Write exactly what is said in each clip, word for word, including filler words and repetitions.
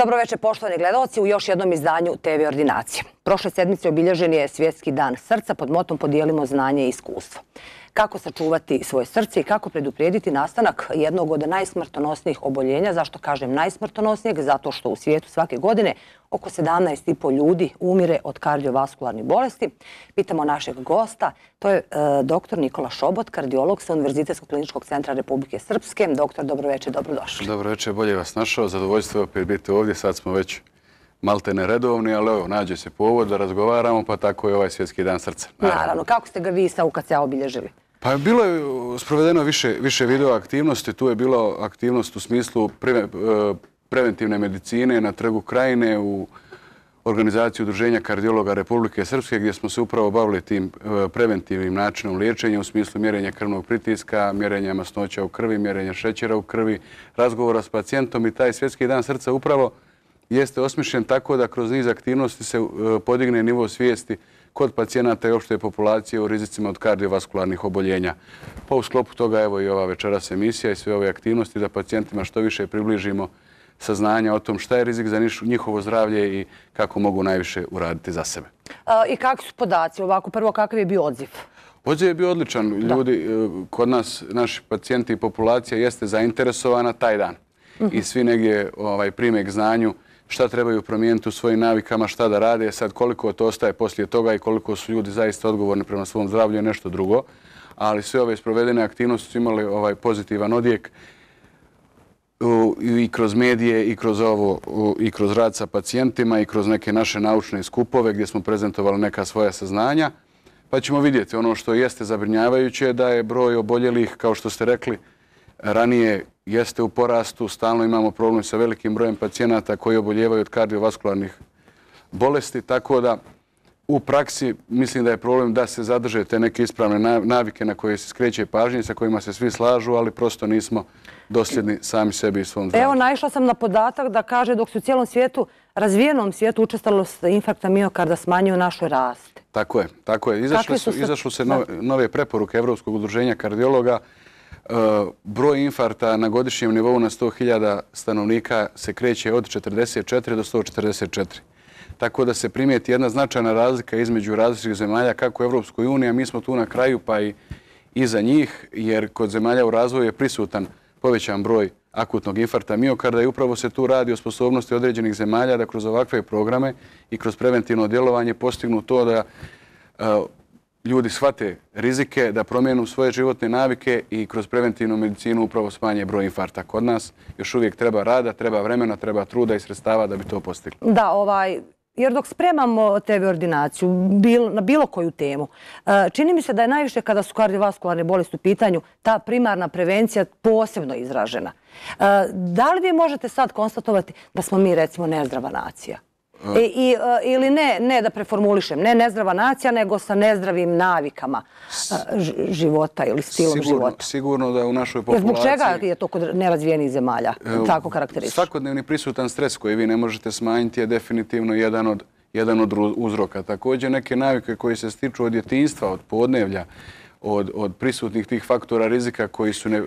Dobro večer, poštovani gledalci, u još jednom izdanju te ve Ordinacije. Prošle sedmice obilježen je Svjetski dan srca pod motom Podijelimo znanje i iskustvo. Kako sačuvati svoje srce i kako preduprijediti nastanak jednog od najsmrtonosnijih oboljenja. Zašto kažem najsmrtonosnijeg? Zato što u svijetu svake godine oko sedamnaest i po ljudi umire od kardiovaskularnih bolesti. Pitamo našeg gosta, to je e, doktor Nikola Šobot, kardiolog sa Univerzitetskog kliničkog centra Republike Srpske. Doktor, dobro večer, dobrodošli. Dobro večer, bolje vas našao. Zadovoljstvo je opet biti ovdje. Sad smo već malte neredovni, ali evo, nađe se povod da razgovaramo, pa tako je ovaj Svjetski dan srca. Naravno. Naravno. Kako ste ga vi sa U K C A obilježili? Pa bilo je sprovedeno više, više video aktivnosti. Tu je bila aktivnost u smislu pre, preventivne medicine na Trgu Krajine u organizaciji Udruženja kardiologa Republike Srpske, gdje smo se upravo bavili tim preventivnim načinom liječenja u smislu mjerenja krvnog pritiska, mjerenja masnoća u krvi, mjerenja šećera u krvi, razgovora s pacijentom. I taj Svjetski dan srca upravo jeste osmišljen tako da kroz niz aktivnosti se podigne nivo svijesti kod pacijenata i opšte populacije u rizicima od kardiovaskularnih oboljenja. Pa u sklopu toga evo i ova večeras emisija i sve ove aktivnosti da pacijentima što više približimo saznanja o tom šta je rizik za njihovo zdravlje i kako mogu najviše uraditi za sebe. I kakvi su podaci? Ovako, prvo, kakav je bio odziv? Odziv je bio odličan. Ljudi, kod nas, naši pacijenti i populacija jeste zainteresovana taj dan. I svi negdje ovaj, prime k znanju šta trebaju promijeniti u svojim navikama, šta da rade. Sad koliko to ostaje poslije toga i koliko su ljudi zaista odgovorni prema svom zdravlju je nešto drugo. Ali sve ove sprovedene aktivnosti su imali ovaj pozitivan odjek i kroz medije i kroz ovo i kroz rad sa pacijentima i kroz neke naše naučne skupove gdje smo prezentovali neka svoja saznanja. Pa ćemo vidjeti ono što jeste zabrinjavajuće da je broj oboljelih, kao što ste rekli, ranije jeste u porastu. Stalno imamo problem sa velikim brojem pacijenata koji oboljevaju od kardiovaskularnih bolesti, tako da u praksi mislim da je problem da se zadrže te neke ispravne navike na koje se skreće pažnje, sa kojima se svi slažu, ali prosto nismo dosljedni sami sebi i svom zdravlju. Evo, naišla sam na podatak da kaže dok se u cijelom svijetu, razvijenom svijetu, učestalost infarkta miokarda smanjuje, u našoj raste. Tako je, tako je. Izašle su, izašle se nove, nove preporuke Evropskog udruženja kardiologa. Broj infarkta na godišnjem nivou na sto hiljada stanovnika se kreće od četrdeset četiri do sto četrdeset četiri. Tako da se primijeti jedna značajna razlika između različitih zemalja kako u Evropskoj uniji, a mi smo tu na kraju pa i iza njih, jer kod zemalja u razvoju je prisutan povećan broj akutnog infarkta miokarda i upravo se tu radi o sposobnosti određenih zemalja da kroz ovakve programe i kroz preventivno djelovanje postignu to da ljudi shvate rizike, da promijenu svoje životne navike i kroz preventivnu medicinu upravo smanje broj infarkta. Kod nas još uvijek treba rada, treba vremena, treba truda i sredstava da bi to postigli. Da, ovaj, jer dok spremamo te ve Ordinaciju bil, na bilo koju temu, čini mi se da je najviše kada su kardiovaskularne bolesti u pitanju ta primarna prevencija posebno izražena. Da li vi možete sad konstatovati da smo mi recimo nezdrava nacija? I, i, ili ne, ne da preformulišem, ne nezdrava nacija, nego sa nezdravim navikama života ili stilom sigurno, života. Sigurno da u našoj populaciji... Zbog čega je to kod nerazvijenih zemalja tako karakteristično? Svakodnevni prisutan stres koji vi ne možete smanjiti je definitivno jedan od, jedan od uzroka. Također neke navike koje se stiču od djetinjstva, od podnevlja, od, od prisutnih tih faktora rizika koji su ne,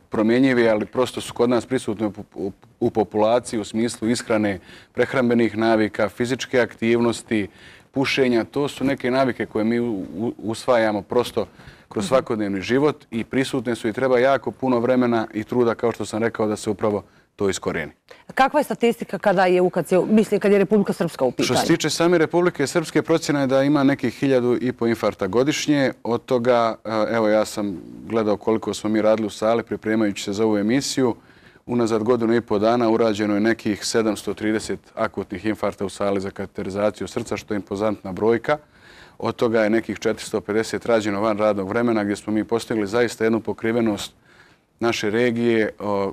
promjenjivi, ali prosto su kod nas prisutni u, u, u populaciji u smislu ishrane, prehrambenih navika, fizičke aktivnosti, pušenja. To su neke navike koje mi u, usvajamo prosto kroz svakodnevni život i prisutne su i treba jako puno vremena i truda, kao što sam rekao, da se upravo to iskorijeni. Kakva je statistika kada je U K C, mislim, kad je Republika Srpska u pitanju? Što se tiče same Republike Srpske, procjena je da ima nekih hiljadu i po infarkta godišnje. Od toga, evo ja sam gledao koliko smo mi radili u sali pripremajući se za ovu emisiju. Unazad godinu i po dana urađeno je nekih sedamsto trideset akutnih infarkta u sali za kateterizaciju srca, što je impozantna brojka. Od toga je nekih četiristo pedeset rađeno van radnog vremena, gdje smo mi postigli zaista jednu pokrivenost naše regije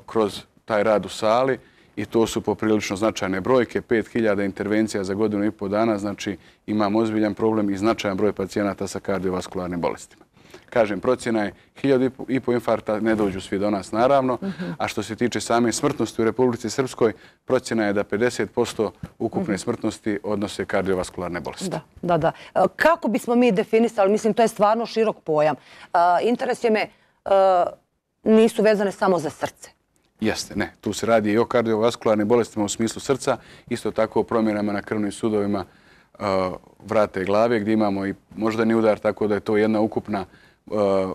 kroz taj rad u sali i to su poprilično značajne brojke. pet hiljada intervencija za godinu i po dana, znači imamo ozbiljan problem i značajan broj pacijenata sa kardiovaskularnim bolestima. Kažem, procjena je hiljadu i po infarkta, ne dođu svi do nas naravno, a što se tiče same smrtnosti u Republici Srpskoj, procjena je da pedeset posto ukupne smrtnosti odnose kardiovaskularne bolesti. Da, da, da. Kako bismo mi definisali, mislim, to je stvarno širok pojam. Interes je me, nisu vezane samo za srce. Jeste, ne. Tu se radi i o kardiovaskularnim bolestima u smislu srca, isto tako o promjenama na krvnim sudovima vrata i glave, gdje imamo i moždani udar, tako da je to jedna ukupna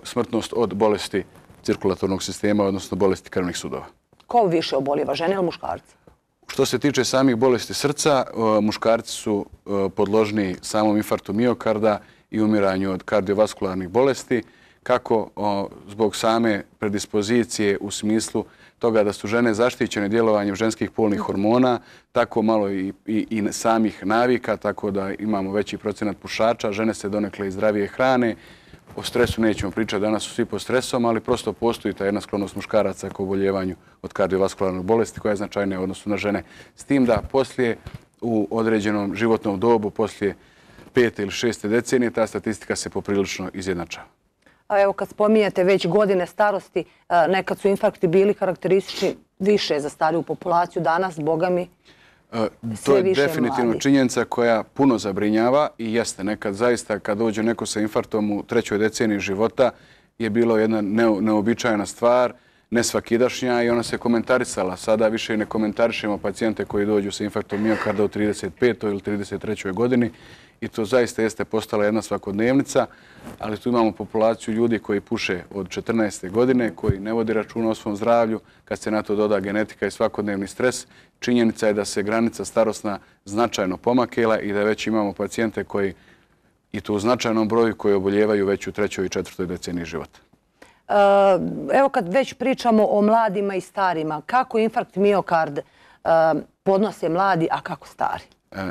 smrtnost od bolesti cirkulatornog sistema, odnosno bolesti krvnih sudova. Ko više oboljeva, žene ili muškarci? Što se tiče samih bolesti srca, muškarci su podložniji samom infarktu miokarda i umiranju od kardiovaskularnih bolesti, kako zbog same predispozicije u smislu toga da su žene zaštićene djelovanjem ženskih polnih hormona, tako malo i, i, i samih navika, tako da imamo veći procenat pušača, žene se donekle i zdravije hrane. O stresu nećemo pričati, danas su svi pod stresom, ali prosto postoji ta jedna sklonost muškaraca k oboljevanju od kardiovaskularnih bolesti koja je značajnija u odnosu na žene. S tim da poslije u određenom životnom dobu, poslije pete ili šeste decenije, ta statistika se poprilično izjednačava. A evo kad spominjete već godine starosti, nekad su infarkti bili karakteristični više za stariju populaciju, danas, boga mi, to je definitivno činjenica koja puno zabrinjava i jeste. Nekad zaista kad dođe neko sa infarktom u trećoj deceniji života je bilo jedna neobičajna stvar, nesvakidašnja i ona se komentarisala. Sada više i ne komentarišemo pacijente koji dođu sa infarktom miokarda u trideset petoj ili trideset trećoj godini i to zaista jeste postala jedna svakodnevnica, ali tu imamo populaciju ljudi koji puše od četrnaeste godine, koji ne vodi računa o svom zdravlju, kad se na to doda genetika i svakodnevni stres. Činjenica je da se granica starosna značajno pomakela i da već imamo pacijente koji, i to u značajnom broju, koji oboljevaju već u trećoj i četvrtoj deceniji života. Evo kad već pričamo o mladima i starima, kako infarkt miokard podnose mladi, a kako stari?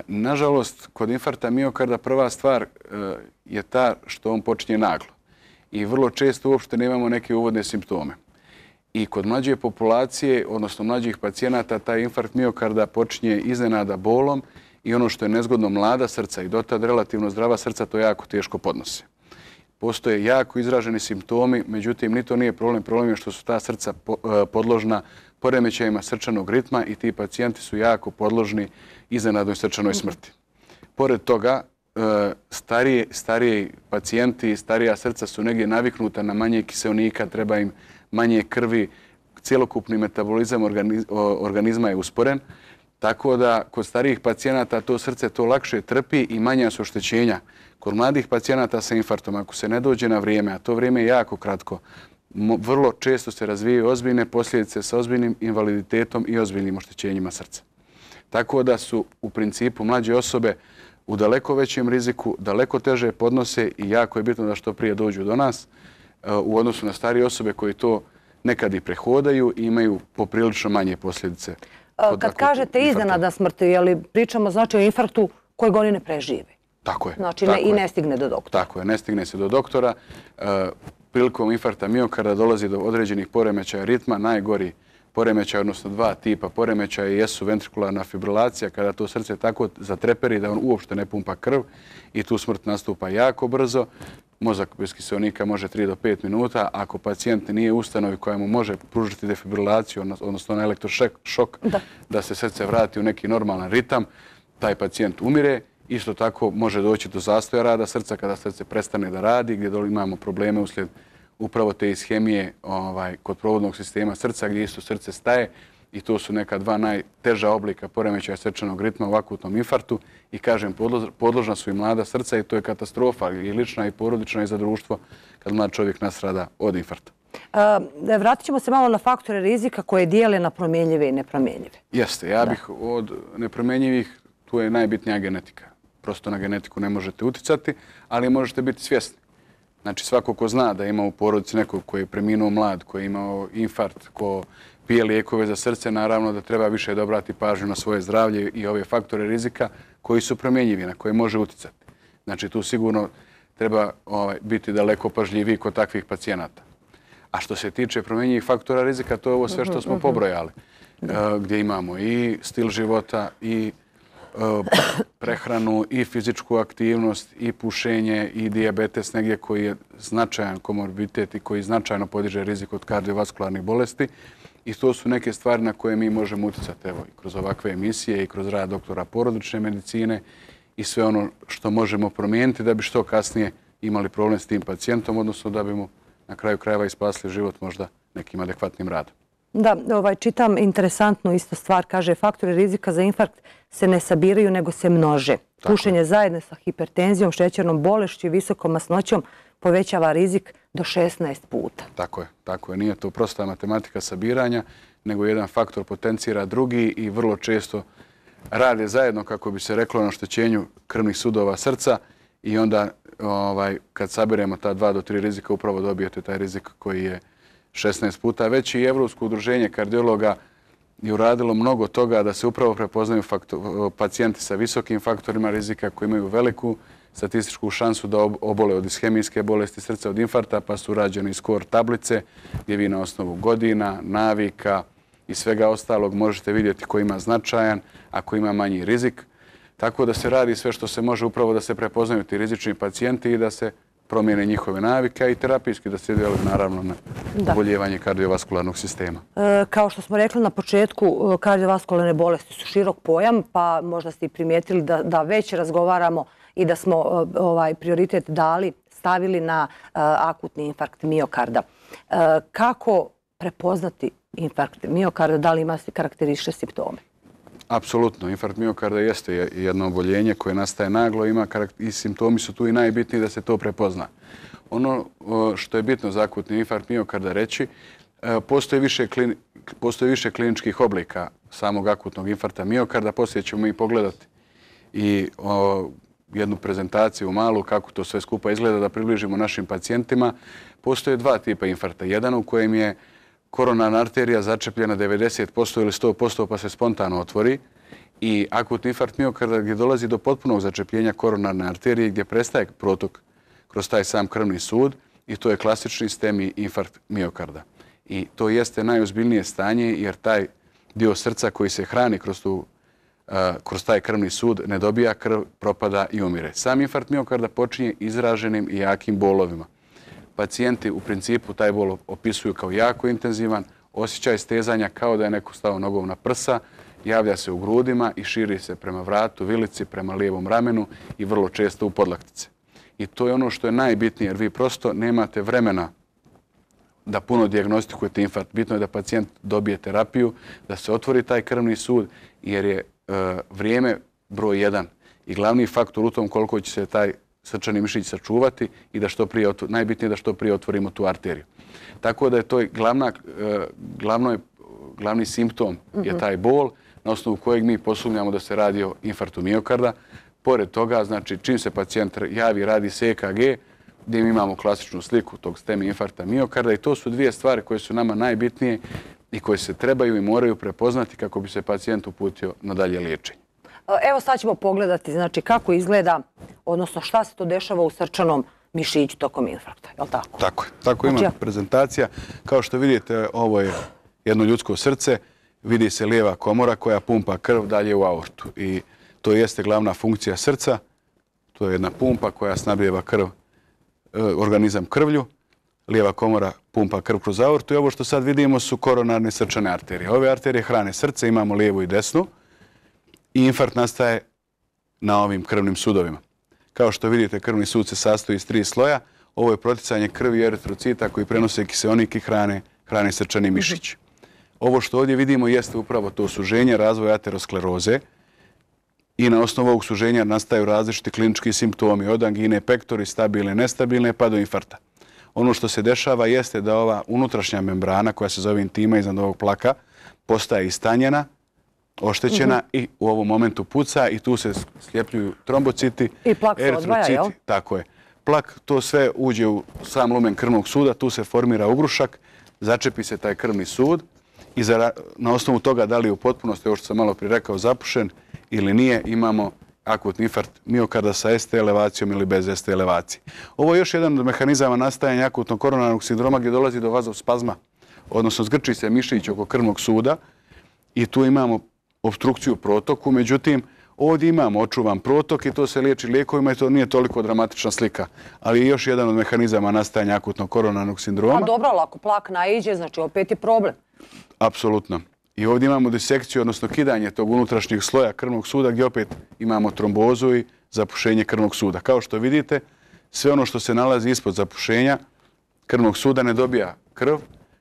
Nažalost, kod infarkta miokarda prva stvar je ta što on počinje naglo i vrlo često uopšte nemamo neke uvodne simptome. I kod mlađe populacije, odnosno mlađih pacijenata, taj infarkt miokarda počinje iznenada bolom i ono što je nezgodno, mlada srca i dotad relativno zdrava srca to jako teško podnose. Postoje jako izraženi simptomi, međutim, ni to nije problem. Problem je što su ta srca podložna poremećajima srčanog ritma i ti pacijenti su jako podložni iznenadnoj srčanoj smrti. Pored toga, starije, stariji pacijenti i starija srca su negdje naviknuta na manje kiseonika, treba im manje krvi, cjelokupni metabolizam organizma je usporen, tako da kod starijih pacijenata to srce to lakše trpi i manja su oštećenja. Kod mladih pacijenata sa infarktom, ako se ne dođe na vrijeme, a to vrijeme je jako kratko, vrlo često se razvijaju ozbiljne posljedice sa ozbiljnim invaliditetom i ozbiljnim oštećenjima srca. Tako da su u principu mlađe osobe u daleko većem riziku, daleko teže podnose i jako je bitno da što prije dođu do nas u odnosu na starije osobe koji to nekad i prehodaju i imaju poprilično manje posljedice. Kad kažete iznenadna smrt, je li pričamo znači o infarktu kojeg oni ne prežive? Tako je. Znači i ne stigne do doktora. Tako je, ne stigne se do doktora. Prilikom infarkta miokarda dolazi do određenih poremećaja ritma, najgori poremećaj, odnosno dva tipa poremećaja jesu ventrikularna fibrilacija, kada to srce tako zatreperi da on uopšte ne pumpa krv i tu smrt nastupa jako brzo. Mozak bez kiseonika može tri do pet minuta. Ako pacijent nije u ustanovi koja mu može pružiti defibrilaciju, odnosno na elektrošok, da se srce vrati u neki normalan ritam, taj pacijent umire. Isto tako može doći do zastoja rada srca kada srce prestane da radi, gdje imamo probleme uslijed upravo te ishemije kod provodnog sistema srca, gdje isto srce staje i to su neka dva najteža oblika poremećaja srčanog ritma u akutnom infarktu i kažem, podložna su i mlada srca i to je katastrofa i lična i porodična i za društvo kad mlad čovjek nasrada od infarkta. Vratit ćemo se malo na faktore rizika koje dijele na promjenjive i nepromjenjive. Jeste, ja bih od nepromjenjivih, tu je najbitnija genetika. Prosto na genetiku ne možete uticati, ali možete biti svjesni. Znači svako ko zna da ima u porodici nekog koji je preminuo mlad, koji je imao infarkt, ko pije lijekove za srce, naravno da treba više da obrati pažnju na svoje zdravlje i ove faktore rizika koji su promjenjivi, na koje može uticati. Znači tu sigurno treba biti daleko pažljiviji kod takvih pacijenata. A što se tiče promjenjivih faktora rizika, to je ovo sve što smo pobrojali, gdje imamo i stil života, i prehranu, i fizičku aktivnost, i pušenje, i dijabetes negdje koji je značajan komorbiditet i koji značajno podiže rizik od kardiovaskularnih bolesti. I to su neke stvari na koje mi možemo uticati, evo, i kroz ovakve emisije i kroz rad doktora porodične medicine i sve ono što možemo promijeniti da bi što kasnije imali problem s tim pacijentom, odnosno da bi mu na kraju krajeva i spasili život možda nekim adekvatnim radom. Da, ovaj, čitam interesantnu isto stvar. Kaže, faktori rizika za infarkt se ne sabiraju, nego se množe. Pušenje zajedno sa hipertenzijom, šećernom bolešću i visokom masnoćom povećava rizik do šesnaest puta. Tako je, tako je. Nije to prosta matematika sabiranja, nego jedan faktor potencira drugi i vrlo često rade zajedno, kako bi se reklo, na oštećenju krvnih sudova srca i onda ovaj, kad sabiremo ta dva do tri rizika upravo dobijete taj rizik koji je šesnaest puta veći. I Evropsko udruženje kardiologa je uradilo mnogo toga da se upravo prepoznaju faktor, pacijenti sa visokim faktorima rizika koji imaju veliku statističku šansu da obole od ishemijske bolesti srca, od infarkta, pa su rađene skor tablice gdje vi na osnovu godina, navika i svega ostalog možete vidjeti ko ima značajan, a ko ima manji rizik. Tako da se radi sve što se može upravo da se prepoznaju ti rizični pacijenti i da se promijene njihove navike i terapijski da se djeluje naravno na oboljevanje kardiovaskularnog sistema. E, kao što smo rekli na početku, kardiovaskularne bolesti su širok pojam, pa možda ste i primijetili da, da već razgovaramo i da smo ovaj prioritet dali, stavili na uh, akutni infarkt miokarda. Uh, kako prepoznati infarkt miokarda? Da li ima karakteristične simptome? Apsolutno. Infarkt miokarda jeste jedno oboljenje koje nastaje naglo ima i simptomi su tu i najbitniji da se to prepozna. Ono što je bitno za akutni infarkt miokarda reći, postoji više, klini, postoji više kliničkih oblika samog akutnog infarkta miokarda. Poslije ćemo i pogledati i o, jednu prezentaciju malu kako to sve skupa izgleda da približimo našim pacijentima. Postoje dva tipa infarkta. Jedan u kojem je koronarna arterija začepljena devedeset posto ili sto posto pa se spontano otvori i akutni infarkt miokarda gdje dolazi do potpunog začepljenja koronarne arterije gdje prestaje protok kroz taj sam krvni sud i to je klasični STEMI infarkt miokarda. I to jeste najozbiljnije stanje jer taj dio srca koji se hrani kroz, tu, uh, kroz taj krvni sud ne dobija krv, propada i umire. Sam infarkt miokarda počinje izraženim i jakim bolovima. Pacijenti u principu taj bol opisuju kao jako intenzivan, osjećaj stezanja kao da je neko stao nogom na prsa, javlja se u grudima i širi se prema vratu, vilici, prema lijevom ramenu i vrlo često u podlaktice. I to je ono što je najbitnije jer vi prosto nemate vremena da puno dijagnostikujete infarkt. Bitno je da pacijent dobije terapiju, da se otvori taj krvni sud jer je e, vrijeme broj jedan i glavni faktor u tom koliko će se taj srčani mišić sačuvati i da što prije, najbitnije da što prije otvorimo tu arteriju. Tako da je to glavna, glavno, glavni simptom je taj bol na osnovu kojeg mi posumnjamo da se radi o infarktu miokarda. Pored toga, znači, čim se pacijent javi, radi se E K G, gdje mi imamo klasičnu sliku tog STEMI infarkta miokarda i to su dvije stvari koje su nama najbitnije i koje se trebaju i moraju prepoznati kako bi se pacijent uputio na dalje liječenje. Evo sad ćemo pogledati znači, kako izgleda, odnosno šta se to dešava u srčanom mišiću tokom infarkta, je li tako? Tako je. Tako ima znači, prezentacija. Kao što vidite, ovo je jedno ljudsko srce. Vidi se lijeva komora koja pumpa krv dalje u aortu. I to jeste glavna funkcija srca. To je jedna pumpa koja snabdijeva krv, organizam krvlju. Lijeva komora pumpa krv kroz aortu i ovo što sad vidimo su koronarne srčane arterije. Ove arterije hrane srce, imamo lijevu i desnu. I infarkt nastaje na ovim krvnim sudovima. Kao što vidite, krvni sud se sastoji iz tri sloja. Ovo je proticanje krvi i eritrocita koji prenose kiseonik i hrane, hrane srčani mišić. Ovo što ovdje vidimo jeste upravo to suženje, razvoj ateroskleroze i na osnovu ovog suženja nastaju različiti klinički simptomi od angine pectoris, stabilne, nestabilne pa do infarkta. Ono što se dešava jeste da ova unutrašnja membrana koja se zove intima iznad ovog plaka postaje istanjena, oštećena mm-hmm. i u ovom momentu puca i tu se sljepljuju trombociti, i plak se odvaja, jel? Tako je. Plak, to sve uđe u sam lumen krvnog suda, tu se formira ugrušak, začepi se taj krvni sud i za, na osnovu toga da li je u potpunosti, ovo što sam malo prije rekao, zapušen ili nije, imamo akutni infarkt miokarda sa S T elevacijom ili bez S T elevacije. Ovo je još jedan od mehanizama nastajanja akutnog koronarnog sindroma gdje dolazi do vazospazma, odnosno zgrči se mišić oko krvnog suda i tu imamo obstrukciju protoku, međutim, ovdje imamo očuvan protok i to se liječi lijekovima i to nije toliko dramatična slika. Ali je još jedan od mehanizama nastajanja akutnog koronarnog sindroma. A dobro, ali ako plak naiđe, znači opet je problem. Apsolutno. I ovdje imamo disekciju, odnosno kidanje tog unutrašnjeg sloja krvnog suda gdje opet imamo trombozu i zapušenje krvnog suda. Kao što vidite, sve ono što se nalazi ispod zapušenja krvnog suda ne dobija krv,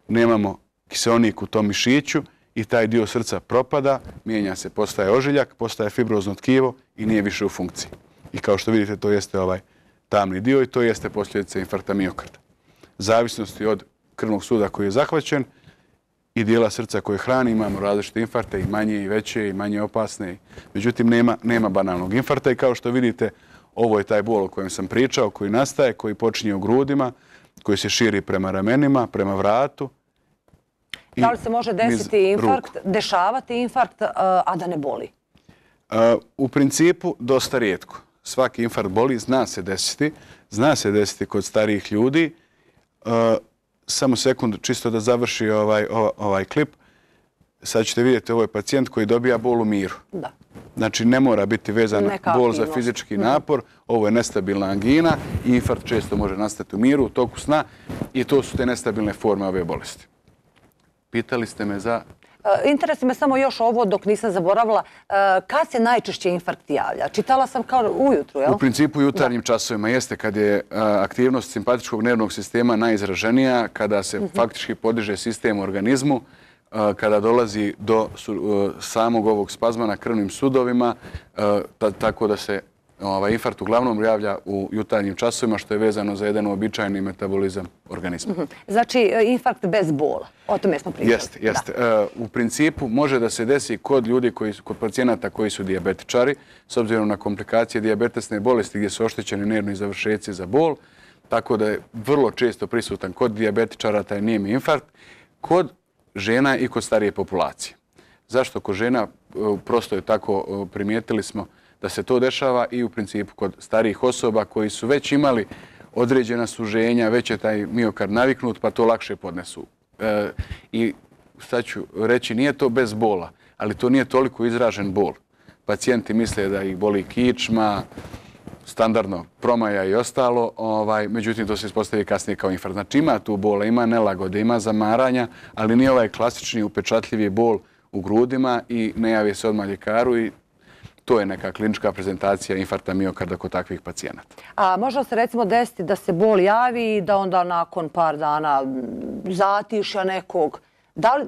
nemamo kiseonik u tom mišiću i taj dio srca propada, mijenja se, postaje ožiljak, postaje fibrozno tkivo i nije više u funkciji. I kao što vidite, to jeste ovaj tamni dio i to jeste posljedica infarkta miokarda. Zavisnosti od krvnog suda koji je zahvaćen i dijela srca koje hrani, imamo različite infarkte, i manje i veće i manje opasne. Međutim, nema, nema banalnog infarkta i kao što vidite, ovo je taj bol o kojem sam pričao, koji nastaje, koji počinje u grudima, koji se širi prema ramenima, prema vratu. Da li se može desiti infarkt, dešavati infarkt, a da ne boli? U principu, dosta rijetko. Svaki infarkt boli, zna se desiti. Zna se desiti kod starijih ljudi. Samo sekund, čisto da završi ovaj, ovaj klip. Sad ćete vidjeti, ovo je pacijent koji dobija bol u miru. Da. Znači, ne mora biti vezan bol za fizički napor. Ovo je nestabilna angina i infarkt često može nastati u miru, u toku sna i to su te nestabilne forme ove bolesti. Pitali ste me za... Interesuje me samo još ovo dok nisam zaboravila. Kad se najčešće infarkt javlja? Čitala sam kao ujutru, jel? U principu jutarnjim časovima jeste kad je aktivnost simpatičkog nervnog sistema najizraženija, kada se faktički podiže sistem u organizmu, kada dolazi do samog ovog spazma na krvnim sudovima, tako da se infarkt uglavnom javlja u jutarnjim časovima, što je vezano za jedan uobičajeni metabolizam organizma. Znači, infarkt bez bola. O tome smo pričali. Jeste, jeste. U principu može da se desi kod ljudi, kod pacijenata koji su dijabetičari, s obzirom na komplikacije dijabetesne bolesti gdje su oštećeni nervni završeci za bol, tako da je vrlo često prisutan kod dijabetičara taj nijemi infarkt, kod žena i kod starije populacije. Zašto kod žena? Prosto je tako, primijetili smo da se to dešava i u principu kod starijih osoba koji su već imali određena suženja, već je taj miokard naviknut pa to lakše podnesu. I sad ću reći, nije to bez bola, ali to nije toliko izražen bol. Pacijenti misle da ih boli kičma, standardno promaja i ostalo, međutim to se ispostavi kasnije kao infarkt. Znači ima tu bola, ima nelagode, ima zamaranja, ali nije ovaj klasični upečatljivi bol u grudima i ne javi se odmah ljekaru i to je neka klinička prezentacija infarkta miokarda kod takvih pacijenata. A može se recimo desiti da se bol javi i da onda nakon par dana zatišja nekog?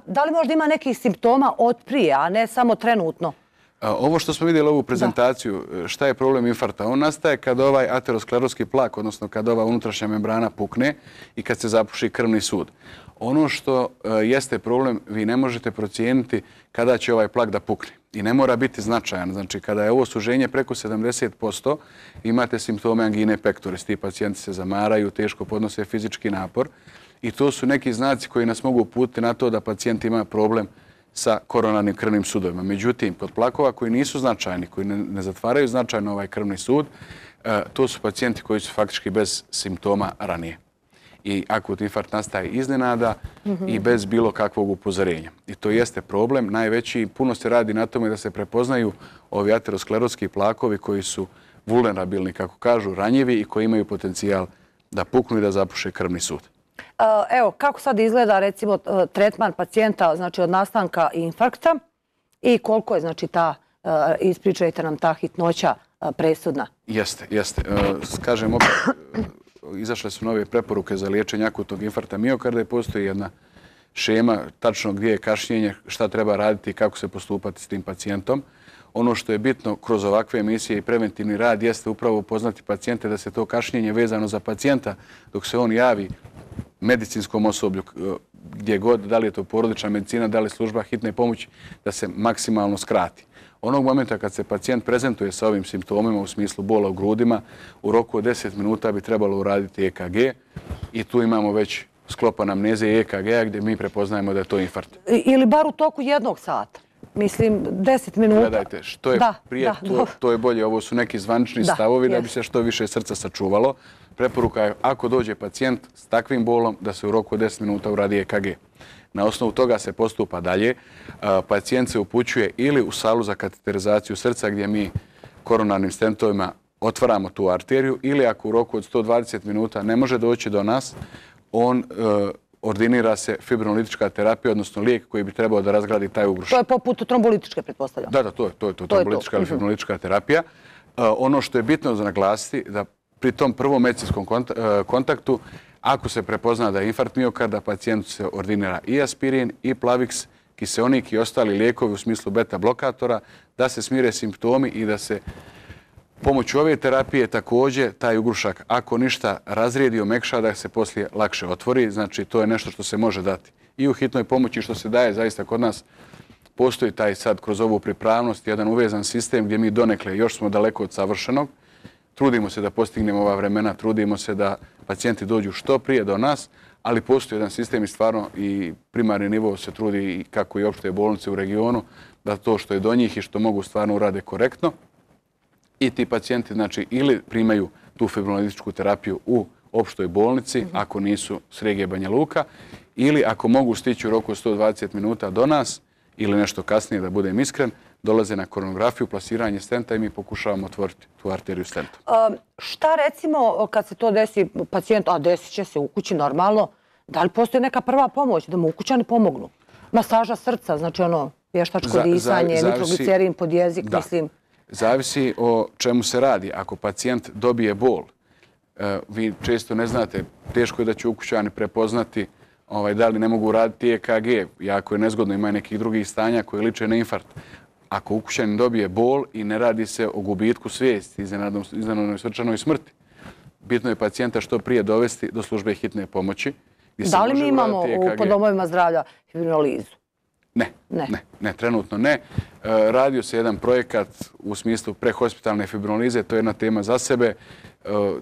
Da li možda ima nekih simptoma od prije, a ne samo trenutno? Ovo što smo vidjeli ovu prezentaciju, šta je problem infarkta? On nastaje kad ovaj ateroskleroski plak, odnosno kad ova unutrašnja membrana pukne i kad se zapuši krvni sud. Ono što jeste problem, vi ne možete procijeniti kada će ovaj plak da pukne. I ne mora biti značajan. Znači, kada je ovo suženje preko sedamdeset posto, imate simptome angine pectoris. Ti pacijenti se zamaraju, teško podnose fizički napor. I to su neki znaci koji nas mogu uputiti na to da pacijent ima problem sa koronarnim krvnim sudovima. Međutim, kod plakova koji nisu značajni, koji ne zatvaraju značajno ovaj krvni sud, to su pacijenti koji su faktički bez simptoma ranije. I akutni infarkt nastaje iznenada i bez bilo kakvog upozorenja. I to jeste problem. Najveći, puno se radi na tome da se prepoznaju ovi ateroskleroski plakovi koji su vulnerabilni, kako kažu, ranjivi i koji imaju potencijal da puknu i da zapuše krvni sud. Evo, kako sad izgleda recimo tretman pacijenta, znači od nastanka infarkta i koliko je znači ta, ispričajte nam, ta hitnoća presudna? Jeste, jeste. Kažem opet, izašle su nove preporuke za liječenje akutnog infarkta miokarda i postoji jedna šema tačno gdje je kašnjenje, šta treba raditi i kako se postupati s tim pacijentom. Ono što je bitno kroz ovakve emisije i preventivni rad jeste upravo upoznati pacijente da se to kašnjenje vezano za pacijenta dok se on javi medicinskom osoblju, gdje god, da li je to porodična medicina, da li služba hitne pomoći, da se maksimalno skrati. Onog momenta kad se pacijent prezentuje sa ovim simptomima u smislu bola u grudima, u roku od deset minuta bi trebalo uraditi E K G i tu imamo već sklop anamneze i E K G-a gdje mi prepoznajemo da je to infarkt. Ili bar u toku jednog sata. Mislim, deset minuta. Gledajte, što je prije, to je bolje. Ovo su neki zvanični stavovi da bi se što više srca sačuvalo. Preporuka je, ako dođe pacijent s takvim bolom, da se u roku od deset minuta uradi E K G. Na osnovu toga se postupa dalje. Pacijent se upućuje ili u salu za kateterizaciju srca gdje mi koronarnim stentovima otvaramo tu arteriju ili ako u roku od sto dvadeset minuta ne može doći do nas, on ordinira se fibrinolitička terapija, odnosno lijek koji bi trebao da razgradi taj ugrušak. To je poput trombolitičke, pretpostavljam. Da, da, to je to, trombolitička ili fibrinolitička terapija. Ono što je bitno za naglasiti da pri tom prvom medicinskom kontaktu, Ako se prepozna da je infarkt miokarda, pacijentu se ordinira i aspirin, i Plavix, kiseonik i ostali lijekovi u smislu beta blokatora, da se smire simptomi i da se pomoću ove terapije također taj ugrušak, ako ništa, razrijedi, omekša, da se poslije lakše otvori. Znači, to je nešto što se može dati i u hitnoj pomoći, što se daje zaista kod nas. Postoji taj sad kroz ovu pripravnost jedan uvezan sistem gdje mi donekle još smo daleko od savršenog. Trudimo se da postignemo ova vremena, trudimo se da pacijenti dođu što prije do nas, ali postoji jedan sistem i stvarno i primarni nivo se trudi i kako i opšte bolnice u regionu da to što je do njih i što mogu stvarno urade korektno. I ti pacijenti znači ili primaju tu fibrinolitičku terapiju u opštoj bolnici, mm-hmm. ako nisu s regije Banja Luka, ili ako mogu stići u roku sto dvadeset minuta do nas, ili nešto kasnije, da budem iskren, dolaze na koronografiju, plasiranje stenta i mi pokušavamo otvoriti tu arteriju stentom. Um, šta recimo kad se to desi pacijentu, a desit će se u kući normalno, da li postoji neka prva pomoć da mu ukućani pomognu? Masaža srca, znači ono vještačko za, disanje, za, nitroglicerin pod jezik, da, mislim. Zavisi o čemu se radi. Ako pacijent dobije bol, uh, vi često ne znate, teško je da će ukućani prepoznati ovaj, da li ne mogu raditi E K G, jako je nezgodno, ima nekih drugih stanja koje liče na infarkt. Ako ukućanin dobije bol i ne radi se o gubitku svijesti, iznenadnoj srčanoj smrti, bitno je pacijenta što prije dovesti do službe hitne pomoći. Da li mi imamo u po domovima zdravlja fibrinolizu? Ne, ne, ne, ne, trenutno ne. Radio se jedan projekat u smislu prehospitalne fibrinolize, to je jedna tema za sebe,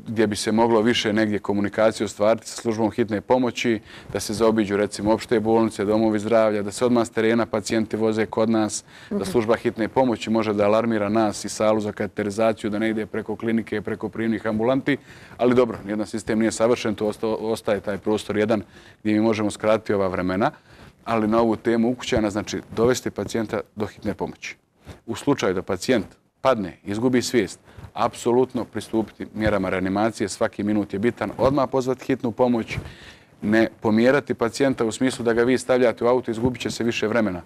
gdje bi se moglo više negdje komunikaciju ostvariti sa službom hitne pomoći, da se zaobiđu recimo opšte bolnice, domovi zdravlja, da se odmah s terena pacijenti voze kod nas, da služba hitne pomoći može da alarmira nas i salu za kateterizaciju, da ne ide preko klinike, preko prijemnih ambulanti, ali dobro, nijedan sistem nije savršen, to ostaje taj prostor jedan gdje mi možemo skratiti ova vremena, ali na ovu temu ukućana znači dovesti pacijenta do hitne pomoći. U slučaju da pacijent padne, izgubi svijest, apsolutno pristupiti mjerama reanimacije, svaki minut je bitan, odmah pozvati hitnu pomoć, ne pomjerati pacijenta u smislu da ga vi stavljate u auto, izgubit će se više vremena.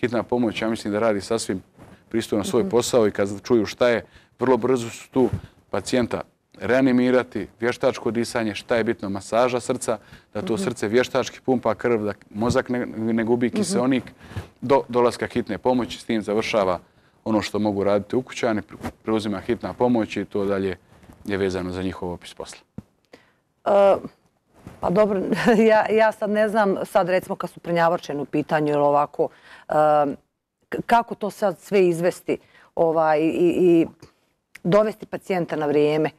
Hitna pomoć, ja mislim da radi sasvim pristojno svoj posao i kad čuju šta je, vrlo brzo su tu pacijenta reanimirati, vještačko disanje, šta je bitno, masaža srca, da to srce vještački pumpa krv, da mozak ne, ne gubi kiseonik, do dolaska hitne pomoći, s tim završava ono što mogu raditi ukućani, preuzima hitna pomoć i to dalje je vezano za njihov opis posla. Uh, pa dobro, ja, ja sad ne znam, sad recimo kad su prenjavorčeni u pitanju ili ovako, uh, kako to sad sve izvesti ovaj, i, i dovesti pacijenta na vrijeme?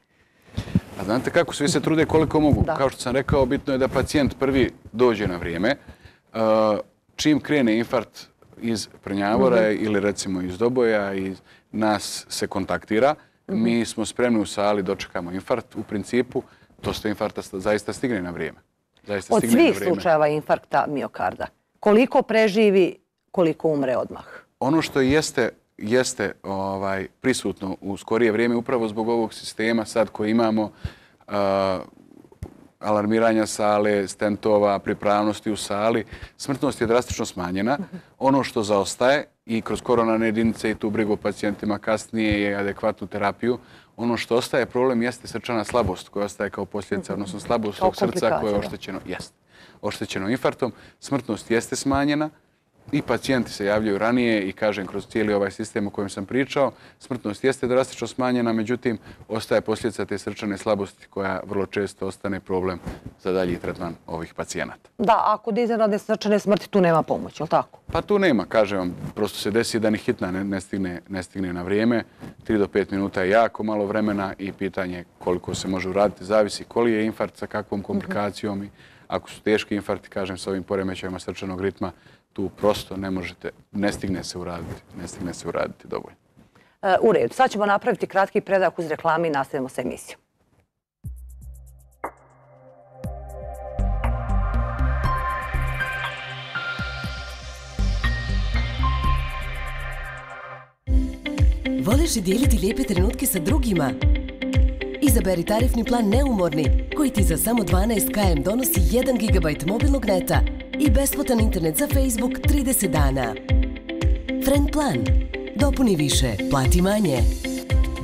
A znate kako, svi se trude koliko mogu. Da. Kao što sam rekao, bitno je da pacijent prvi dođe na vrijeme. Uh, čim krene infarkt iz prenjavora mm-hmm. ili recimo iz doboja, iz nas se kontaktira. Mm-hmm. Mi smo spremni u sali, dočekamo infarkt. U principu, dosta infarkta zaista stigne na vrijeme. Zaista Od stigne svih na vrijeme. slučajeva infarkta miokarda, koliko preživi, koliko umre odmah? Ono što jeste, jeste ovaj, prisutno u skorije vrijeme, upravo zbog ovog sistema sad koji imamo, uh, alarmiranja sale, stentova, pripravnosti u sali, smrtnost je drastično smanjena. Ono što zaostaje i kroz koronarne jedinice i tu brigu o pacijentima kasnije je adekvatnu terapiju. Ono što ostaje problem jeste srčana slabost koja ostaje kao posljedica, odnosno slabost tog srca koje je oštećeno, jest, oštećeno infarktom. Smrtnost jeste smanjena i pacijenti se javljaju ranije i kažem kroz cijeli ovaj sistem o kojem sam pričao, smrtnost jeste drastično smanjena, međutim ostaje posljedica te srčane slabosti koja vrlo često ostane problem za dalji tretman ovih pacijenata. Da, ako da iznenadne srčane smrti tu nema pomoći, je li tako? Pa tu nema, kažem vam, prosto se desi da ni hitna ne, ne, stigne, ne stigne na vrijeme. tri do pet minuta je jako malo vremena i pitanje koliko se može uraditi, zavisi koli je infarkt sa kakvom komplikacijom mm-hmm. i ako su teški infarkti, kažem, sa ovim poremećajima srčanog ritma, tu prosto ne možete, ne stigne se uraditi, ne stigne se uraditi dovoljno. U redu, sad ćemo napraviti kratki predak uz reklami i nastavimo sa emisijom. Voliš li dijeliti lijepe trenutke sa drugima? Izaberi tarifni plan Neumorni, koji ti za samo dvanaest kilometara donosi jedan gigabajt mobilnog neta i besplatan internet za Facebook trideset dana. Friend plan. Dopuni više, plati manje.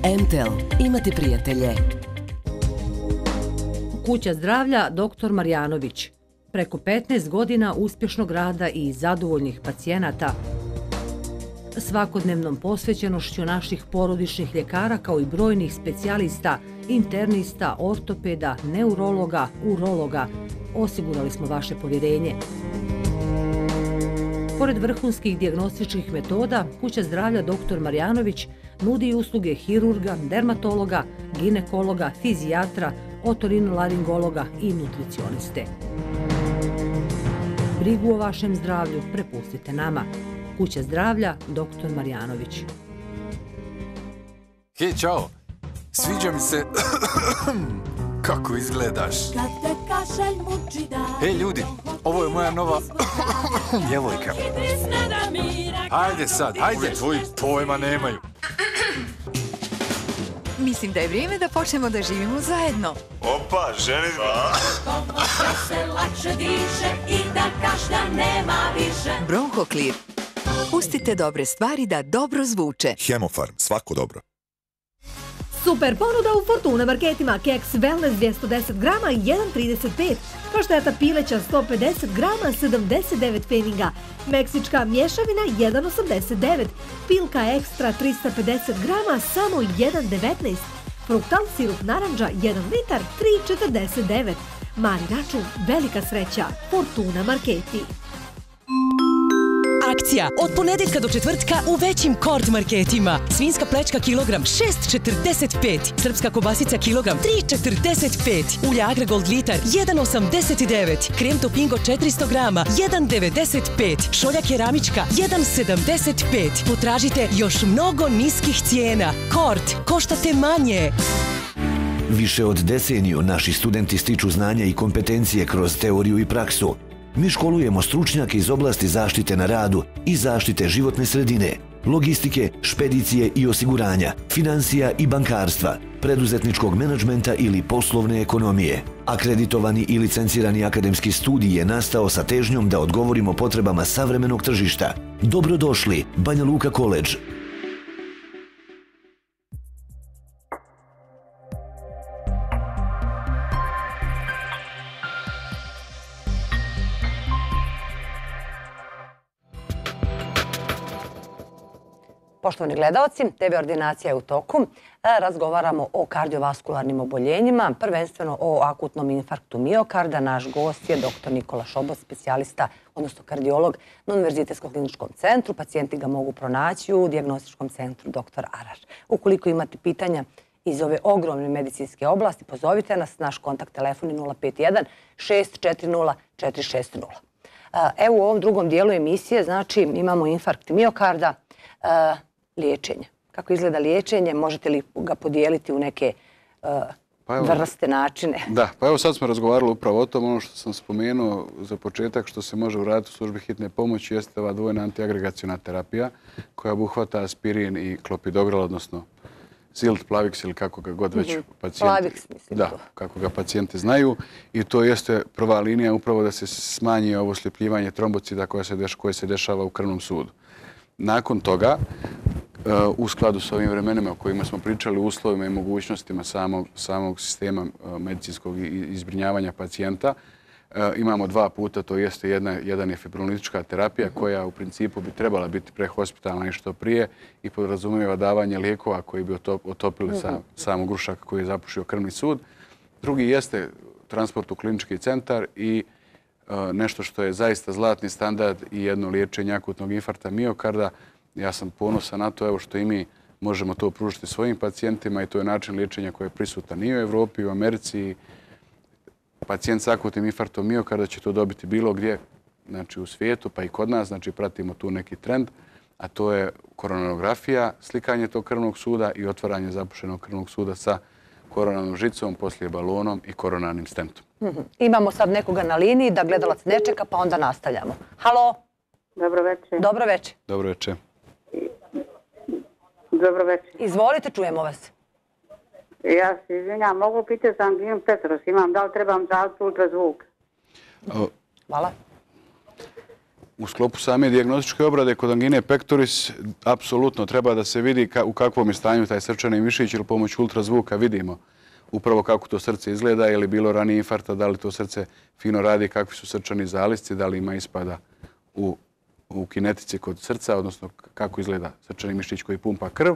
M T E L. Imate prijatelje. Kuća zdravlja doktor Marjanović. Preko petnaest godina uspješnog rada i zadovoljnih pacijenata. Svakodnevnom posvećenošću naših porodičnih ljekara kao i brojnih specijalista, internista, ortopeda, neurologa, urologa, osigurali smo vaše povjerenje. Pored vrhunskih dijagnostičkih metoda, Kuća zdravlja doktor Marjanović nudi usluge hirurga, dermatologa, ginekologa, fizijatra, otorinolaringologa i nutricioniste. Brigu o vašem zdravlju prepustite nama. Kuća zdravlja doktor Marjanović. Hej, čao! Sviđa mi se kako izgledaš. Hej, ljudi, ovo je moja nova djevojka. Hajde sad, hajde, tvoji pojma nemaju. Mislim da je vrijeme da počnemo da živimo zajedno. Opa, ženitba! Se lakše diše i da kašlja nema više. Bronhoklir. Pustite dobre stvari da dobro zvuče. Hemofarm, svako dobro. Super ponuda u Fortuna marketima. Keks Wellness dvjesto deset grama jedan zarez trideset pet. Pašteta pileća sto pedeset grama sedamdeset devet pfeniga. Meksička mješavina jedan zarez osamdeset devet. Pilka ekstra trista pedeset grama samo jedan zarez devetnaest. Fruktal sirup naranđa jedan litar tri zarez četrdeset devet. Mali račun, velika sreća. Fortuna marketi. Akcija od ponedjeljka do četvrtka u većim Kord marketima. Svinjska plečka kilogram šest zarez četrdeset pet. Srpska kobasica kilogram tri zarez četrdeset pet. Ulja Agragold litar jedan zarez osamdeset devet. Krem Topingo četiristo grama jedan zarez devedeset pet. Šolja keramička jedan zarez sedamdeset pet. Potražite još mnogo niskih cijena. Kord, koštate manje. Više od deceniju naši studenti stiču znanja i kompetencije kroz teoriju i praksu. Mi školujemo stručnjake iz oblasti zaštite na radu i zaštite životne sredine, logistike, špedicije i osiguranja, financija i bankarstva, preduzetničkog menadžmenta ili poslovne ekonomije. Akreditovani i licencirani akademski studij je nastao sa težnjom da odgovorimo potrebama savremenog tržišta. Dobrodošli, Banja Luka College. Poštovani gledalci, te ve ordinacija je u toku. Razgovaramo o kardiovaskularnim oboljenjima, prvenstveno o akutnom infarktu miokarda. Naš gost je doktor Nikola Šobot, specijalista, odnosno kardiolog na Univerzitetskom kliničkom centru. Pacijenti ga mogu pronaći u dijagnostičkom centru doktor Arar. Ukoliko imate pitanja iz ove ogromne medicinske oblasti, pozovite nas. Naš kontakt telefon je nula pet jedan šest četiri nula četiri šest nula. Evo u ovom drugom dijelu emisije, znači imamo infarkt miokarda, liječenje. Kako izgleda liječenje? Možete li ga podijeliti u neke vrste, načine? Da, pa evo sad smo razgovarali upravo o tom. Ono što sam spomenuo za početak što se može uraditi u službi hitne pomoći jeste ova dvojna antiagregaciona terapija koja obuhvata aspirin i klopidogrel, odnosno Zilt, Plavix ili kako ga god već pacijenti, da, kako ga pacijenti znaju. I to jeste prva linija upravo da se smanji ovo sljepljivanje trombocida koje se, deš, koje se dešava u krvnom sudu. Nakon toga, u skladu s ovim vremenima o kojima smo pričali, uslovima i mogućnostima samog, samog sistema medicinskog izbrinjavanja pacijenta, imamo dva puta, to jeste jedna, jedan je fibrinolitička terapija koja u principu bi trebala biti prehospitalna i što prije i podrazumijeva davanje lijekova koji bi otopili uh-huh. sam, samog grušaka koji je zapušio krvni sud. Drugi jeste transport u klinički centar i nešto što je zaista zlatni standard i jedno liječenje akutnog infarkta miokarda. Ja sam ponosan na to evo što i mi možemo to pružiti svojim pacijentima i to je način liječenja koji je prisutan i u Evropi, i u Americi. Pacijent s akutnim infarktom miokarda će to dobiti bilo gdje, znači u svijetu, pa i kod nas, znači pratimo tu neki trend, a to je koronarografija, slikanje tog krvnog suda i otvaranje zapušenog krvnog suda sa koronarnom žicom, poslije balonom i koronarnim stentom. Mm-hmm. Imamo sad nekoga na liniji da gledalac ne čeka, pa onda nastavljamo. Halo? Dobro večer. Dobro večer. Dobro večer. Dobro večer. Izvolite, čujemo vas. Ja se izvinjam, mogu pitati za anginu pectoris, imam, da li trebam za ultrazvuk? Hvala. U sklopu same dijagnostičke obrade kod angine pectoris apsolutno treba da se vidi ka, u kakvom je stanju taj srčani mišić ili pomoću ultrazvuka vidimo upravo kako to srce izgleda, je li bilo ranije infarkta, da li to srce fino radi, kakvi su srčani zalisci, da li ima ispada u, u kinetici kod srca, odnosno kako izgleda srčani mišić koji pumpa krv.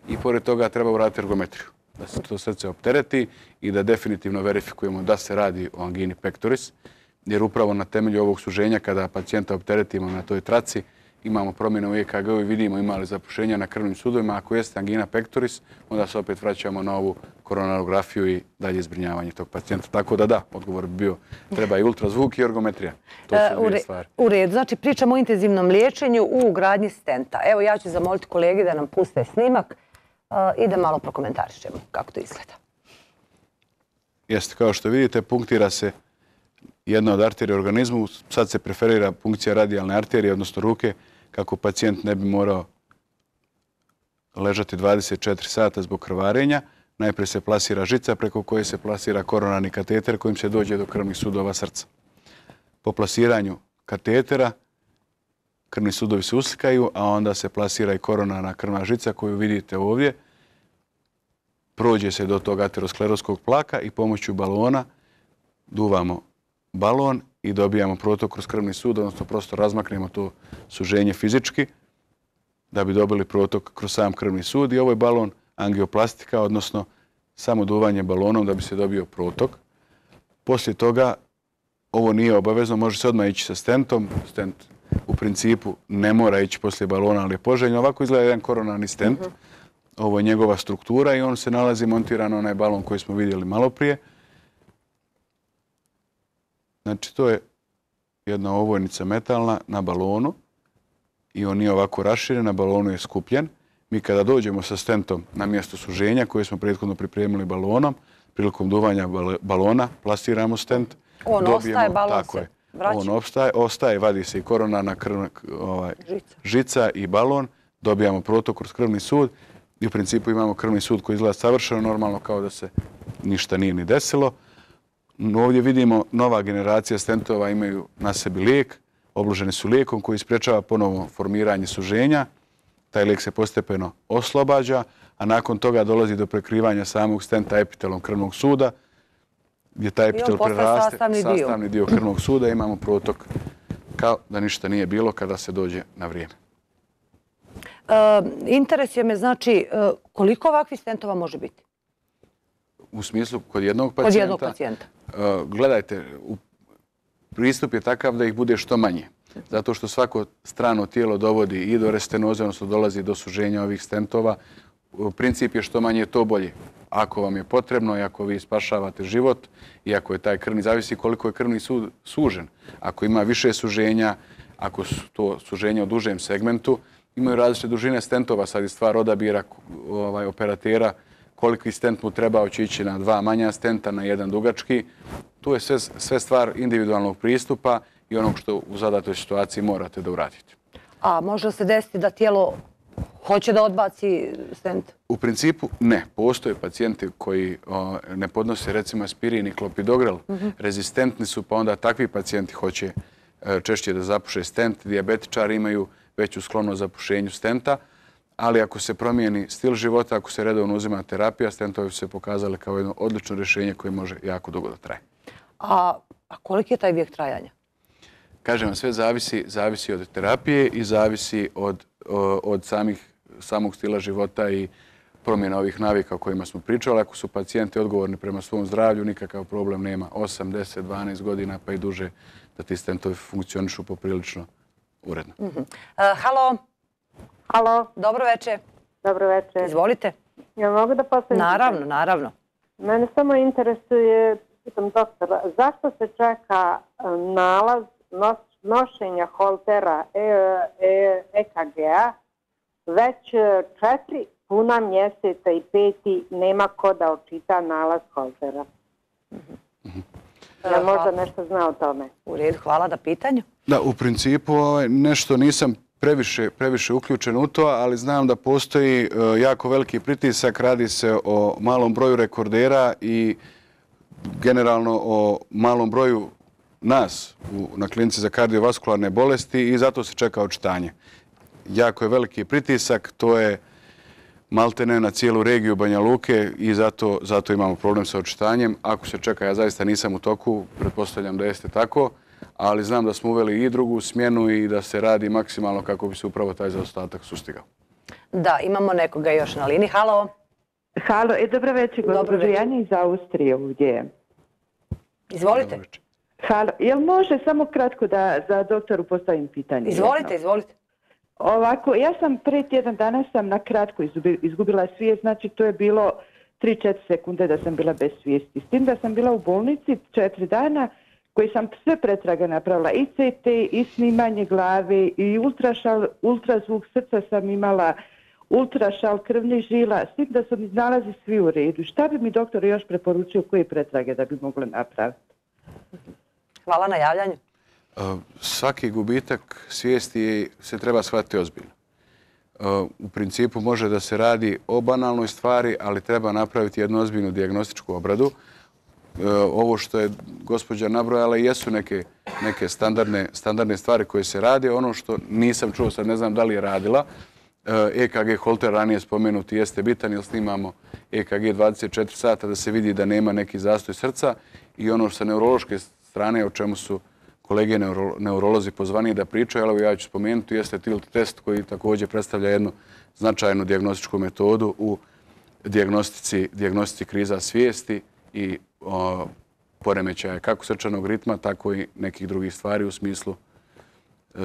I pored toga treba uraditi ergometriju, da se to srce optereti i da definitivno verifikujemo da se radi o angini pectoris, jer upravo na temelju ovog suženja kada pacijenta opteretimo na toj traci, imamo promjene u E K G-u i vidimo ima li zapušenja na krvnim sudovima. Ako jeste angina pectoris, onda se opet vraćamo na ovu koronarografiju i dalje zbrinjavanje tog pacijenta. Tako da da, odgovor bi bio treba i ultrazvuk i ergometrija. To su dvije stvari. U redu, znači pričamo o intenzivnom liječenju u ugradnji stenta. Evo ja ću zamoliti kolege da nam puste snimak i da malo prokomentarišemo kako to izgleda. Jeste, kao što vidite, punktira se jedna od arterija u organizmu. Sad se preferira punkcija radijalne arterije, odnosno ruke, kako pacijent ne bi morao ležati dvadeset četiri sata zbog krvarenja. Najprije se plasira žica preko koje se plasira koronarni kateter kojim se dođe do krvnih sudova srca. Po plasiranju katetera krvni sudovi se uslikaju, a onda se plasira i koronarna krvna žica koju vidite ovdje. Prođe se do tog ateroskleroskog plaka i pomoću balona duvamo balon i dobijamo protok kroz krvni sud, odnosno prosto razmaknemo to suženje fizički da bi dobili protok kroz sam krvni sud. I ovo je balon angioplastika, odnosno samo duvanje balonom da bi se dobio protok. Poslije toga, ovo nije obavezno, može se odmah ići sa stentom. Stent u principu ne mora ići poslije balona, ali je poželjno. Ovako izgleda jedan koronarni stent. Ovo je njegova struktura i on se nalazi montiran na onaj balon koji smo vidjeli malo prije. Znači, to je jedna ovojnica metalna na balonu i on nije ovako raširen, na balonu je skupljen. Mi kada dođemo sa stentom na mjesto suženja koje smo prethodno pripremili balonom, prilikom duvanja balona plasiramo stent. On ostaje, balon se vraća. On ostaje, ostaje, vadi se i koronarna žica i balon, dobijamo protok kroz krvni sud i u principu imamo krvni sud koji izgleda savršeno normalno kao da se ništa nije ni desilo. Ovdje vidimo nova generacija stentova imaju na sebi lijek, obloženi su lijekom koji sprečava ponovno formiranje suženja. Taj lijek se postepeno oslobađa, a nakon toga dolazi do prekrivanja samog stenta epitelom krvnog suda, gdje taj epitel preraste sastavni dio krvnog suda i imamo protok kao da ništa nije bilo kada se dođe na vrijeme. Interesuje me, znači, koliko ovakvih stentova može biti? U smislu, kod jednog pacijenta? Kod jednog pacijenta. Gledajte, pristup je takav da ih bude što manje. Zato što svako strano tijelo dovodi i do restenoze, odnosno dolazi do suženja ovih stentova. Princip je što manje, to bolje. Ako vam je potrebno i ako vi spašavate život i ako je taj krvni, zavisi koliko je krvni sud sužen. Ako ima više suženja, ako su to suženja u dužem segmentu, imaju različite dužine stentova. Sad je stvar odabira operatera koliki stent mu treba, hoće ići na dva manja stenta, na jedan dugački. Tu je sve stvar individualnog pristupa i onog što u zadatoj situaciji morate da uradite. A može se desiti da tijelo hoće da odbaci stent? U principu ne. Postoje pacijenti koji ne podnose recimo aspirin i klopidogrel. Rezistentni su, pa onda takvi pacijenti hoće češće da zapuše stent. Dijabetičari imaju veću sklonost zapušenju stenta. Ali ako se promijeni stil života, ako se redovno uzima terapija, stentovi su se pokazali kao jedno odlično rješenje koje može jako dugo da traje. A koliki je taj vijek trajanja? Kažem vam, sve zavisi, zavisi od terapije i zavisi od, od samih, samog stila života i promjena ovih navika o kojima smo pričali. Ako su pacijenti odgovorni prema svom zdravlju, nikakav problem nema. osam, deset, dvanaest godina pa i duže da ti stentovi funkcionišu poprilično uredno. Uh, halo? Halo. Dobro večer. Dobro večer. Izvolite. Ja mogu da postavim? Naravno, naravno. Mene samo interesuje, pitam doktora, zašto se čeka nalaz nošenja holtera E K G-a već četiri puna mjeseca i peti nema ko da očita nalaz holtera? Ja možda nešto zna o tome. U redu, hvala na pitanju. Da, u principu nešto nisam previše, previše uključen u to, ali znam da postoji jako veliki pritisak, radi se o malom broju rekordera i generalno o malom broju nas u, na klinici za kardiovaskularne bolesti i zato se čeka očitanje. Jako je veliki pritisak, to je maltene na cijelu regiju Banja Luke i zato, zato imamo problem sa očitanjem. Ako se čeka, ja zaista nisam u toku, pretpostavljam da jeste tako, ali znam da smo uveli i drugu smjenu i da se radi maksimalno kako bi se upravo taj zaostatak sustigao. Da, imamo nekoga još na liniji. Halo. Halo, e, dobro večer, gospođo Janja iz Austrije ovdje. Izvolite. Halo, jel može samo kratko da za doktoru postavim pitanje? Izvolite, jedno? izvolite. Ovako, ja sam pre tjedan dana sam na kratko izgubila svijest, znači to je bilo tri do četiri sekunde da sam bila bez svijesti. S tim da sam bila u bolnici četiri dana koji sam sve pretrage napravila, i ce te, i snimanje glave, i ultrašal, ultrazvuk srca sam imala, ultrašal krvnih žila, s tim da su mi nalazi svi u redu. Šta bi mi doktor još preporučio, koje pretrage da bi mogla napraviti? Hvala na javljanju. Svaki gubitak svijesti se treba shvatiti ozbiljno. U principu može da se radi o banalnoj stvari, ali treba napraviti jednu ozbiljnu dijagnostičku obradu. Ovo što je gospođa nabrojala jesu neke, neke standardne, standardne stvari koje se radi. Ono što nisam čuo, sad ne znam da li je radila, E K G holter ranije spomenuti jeste bitan jer snimamo E K G dvadeset četiri sata da se vidi da nema neki zastoj srca i ono sa neurološke strane o čemu su kolege neuro, neurolozi pozvani da pričaju, ali ja ću spomenuti, jeste tilt test koji također predstavlja jednu značajnu dijagnostičku metodu u dijagnostici, dijagnostici kriza svijesti i o, poremećaja kako srčanog ritma, tako i nekih drugih stvari u smislu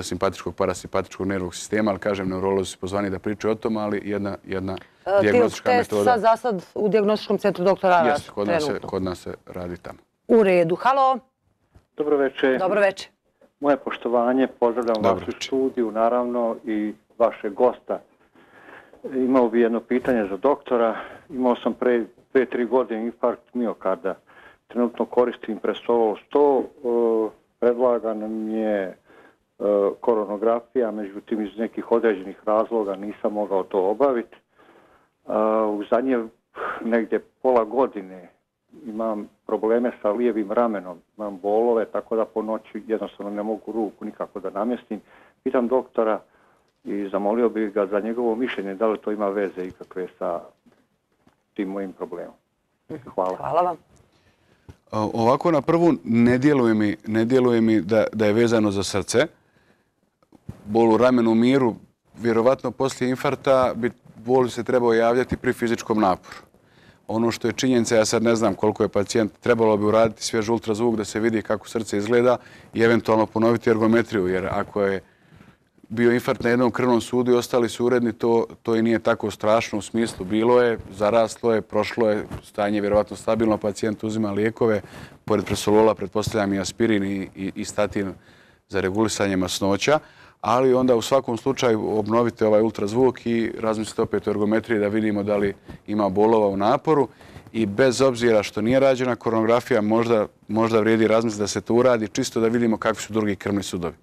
simpatičkog, parasimpatičkog nervnog sistema, ali kažem, neurolozi su pozvani da pričaju o tom, ali jedna, jedna e, dijagnostička metoda. Tilt test za sad u dijagnostičkom centru doktora Aras. Jeste, kod nas, se, kod nas se radi tamo. U redu. Halo. Dobro večer. Dobro večer. Moje poštovanje, pozdravljam Dobro vašu studiju, naravno, i vašeg gosta. Imao bi jedno pitanje za doktora. Imao sam pre dve tri godine infarkt miokarda. Trenutno koristim Presovol sto. Predlagana mi je koronografija, međutim iz nekih određenih razloga nisam mogao to obaviti. U zadnje negdje pola godine imam probleme sa lijevim ramenom, imam bolove, tako da po noći jednostavno ne mogu ruku nikako da namjestim. Pitam doktora i zamolio bih ga za njegovo mišljenje da li to ima veze ikakve sa tim mojim problemom. Hvala. Hvala vam. Ovako na prvu ne djeluje mi, ne djeluje mi da, da je vezano za srce. Bol u ramenu miru, vjerovatno poslije infarta bi bol se trebao javljati pri fizičkom naporu. Ono što je činjenica, ja sad ne znam koliko je pacijent, trebalo bi uraditi svjež ultrazvuk da se vidi kako srce izgleda i eventualno ponoviti ergometriju, jer ako je bio infarkt na jednom krvnom sudu i ostali su uredni, to, to i nije tako strašno u smislu. Bilo je, zaraslo je, prošlo je, stanje je vjerovatno stabilno, pacijent uzima lijekove, pored presolola pretpostavljam i aspirin i, i, i statin za regulisanje masnoća, ali onda u svakom slučaju obnovite ovaj ultrazvuk i razmislite opet o ergometriji da vidimo da li ima bolova u naporu i bez obzira što nije rađena koronografija, možda, možda vrijedi razmisliti da se to uradi čisto da vidimo kakvi su drugi krvni sudovi.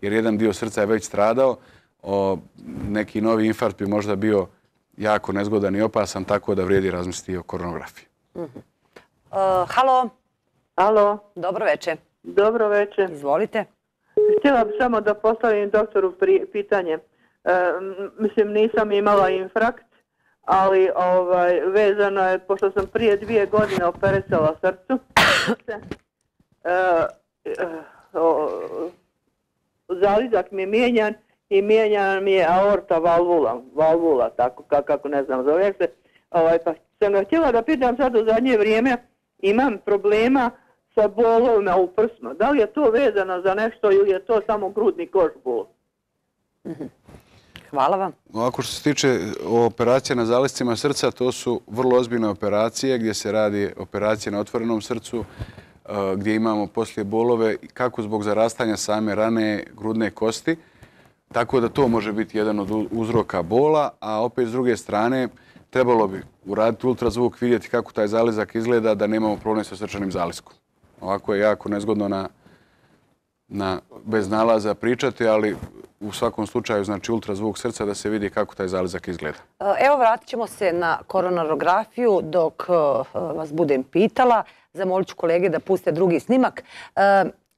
Jer jedan dio srca je već stradao, o, neki novi infarkt bi možda bio jako nezgodan i opasan, tako da vrijedi razmisliti o koronografiji. Uh-huh. uh, halo. Halo. Dobro večer. Dobro večer. Izvolite. Htjela bih samo da postavim doktoru pitanje. E, mislim, nisam imala infarkt, ali ovaj, vezano je, pošto sam prije dvije godine operisala srcu, e, e, o, zalizak mi je mijenjan i mijenjan mi je aorta valvula, valvula, tako kako ne znam zove se. Ovaj, pa sam ga htjela da pitam sad u zadnje vrijeme, imam problema sa bolovima u prsima. Da li je to vezano za nešto ili je to samo grudni koš bol? Hvala vam. Ovako što se tiče operacije na zaliscima srca, to su vrlo ozbiljne operacije gdje se radi operacije na otvorenom srcu, gdje imamo poslije bolove kako zbog zarastanja same rane grudne kosti, tako da to može biti jedan od uzroka bola, a opet s druge strane trebalo bi uraditi ultrazvuk, vidjeti kako taj zalizak izgleda da nemamo problem sa srčanim zaliskom. Ovako je jako nezgodno na, na, bez nalaza pričati, ali u svakom slučaju znači ultrazvuk srca da se vidi kako taj zalizak izgleda. Evo vratit ćemo se na koronarografiju dok vas budem pitala. Zamolit ću kolege da puste drugi snimak.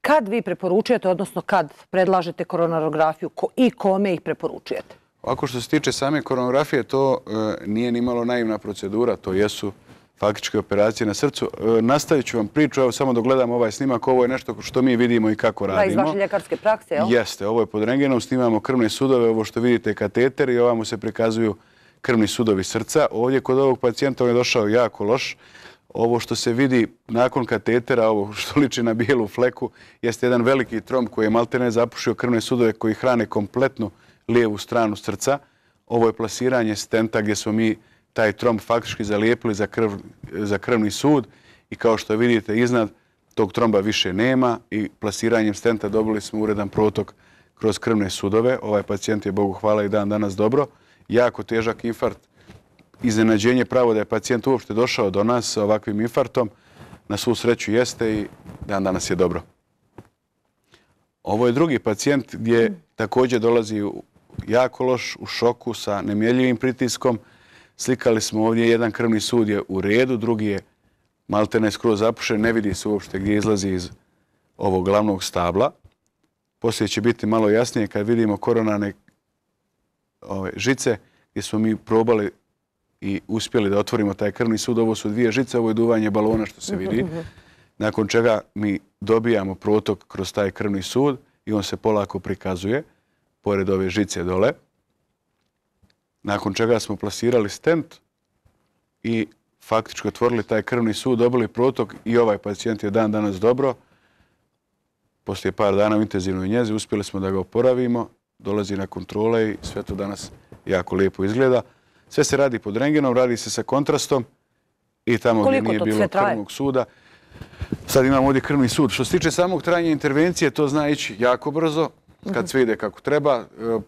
Kad vi preporučujete, odnosno kad predlažete koronarografiju i kome ih preporučujete? Ovako što se tiče same koronografije, to nije ni malo naivna procedura, to jesu faktičke operacije na srcu. Nastavit ću vam priču, evo samo dok gledam ovaj snimak, ovo je nešto što mi vidimo i kako radimo. Da, iz vaše ljekarske prakse, jel? Jeste, ovo je pod rentgenom, snimamo krvne sudove, ovo što vidite je kateter i ovamo se prikazuju krvni sudovi srca. Ovdje kod ovog pacijenta on je došao jako loš. Ovo što se vidi nakon katetera, ovo što liči na bijelu fleku, jeste jedan veliki tromb koji je maltene zapušio krvne sudove koji hrane kompletnu lijevu stranu srca. Ovo je plasiranje stenta gdje smo mi taj tromb faktički zalijepili za, krv, za krvni sud i kao što vidite iznad tog tromba više nema i plasiranjem stenta dobili smo uredan protok kroz krvne sudove. Ovaj pacijent je, Bogu hvala, i dan danas dobro. Jako težak infarkt. Iznenađenje pravo da je pacijent uopšte došao do nas sa ovakvim infarktom. Na svu sreću jeste i dan danas je dobro. Ovo je drugi pacijent gdje također dolazi u jako loš, u šoku sa nemjerljivim pritiskom. Slikali smo ovdje, jedan krvni sud je u redu, drugi je maltene skroz zapušen, ne vidi se uopšte gdje izlazi iz ovog glavnog stabla. Poslije će biti malo jasnije kad vidimo koronarne ove, žice gdje smo mi probali i uspjeli da otvorimo taj krvni sud. Ovo su dvije žice, ovo je duvanje balona što se vidi. Nakon čega mi dobijamo protok kroz taj krvni sud i on se polako prikazuje pored ove žice dole. Nakon čega smo plasirali stent i faktički otvorili taj krvni sud, dobili protok i ovaj pacijent je dan danas dobro. Poslije par dana u intenzivnoj njezi uspjeli smo da ga oporavimo, dolazi na kontrole i sve to danas jako lijepo izgleda. Sve se radi pod rentgenom, radi se sa kontrastom i tamo gdje nije bilo krvnog suda. Sad imamo ovdje krvni sud. Što se tiče samog trajanja intervencije, to zna ići jako brzo. Kad sve ide kako treba,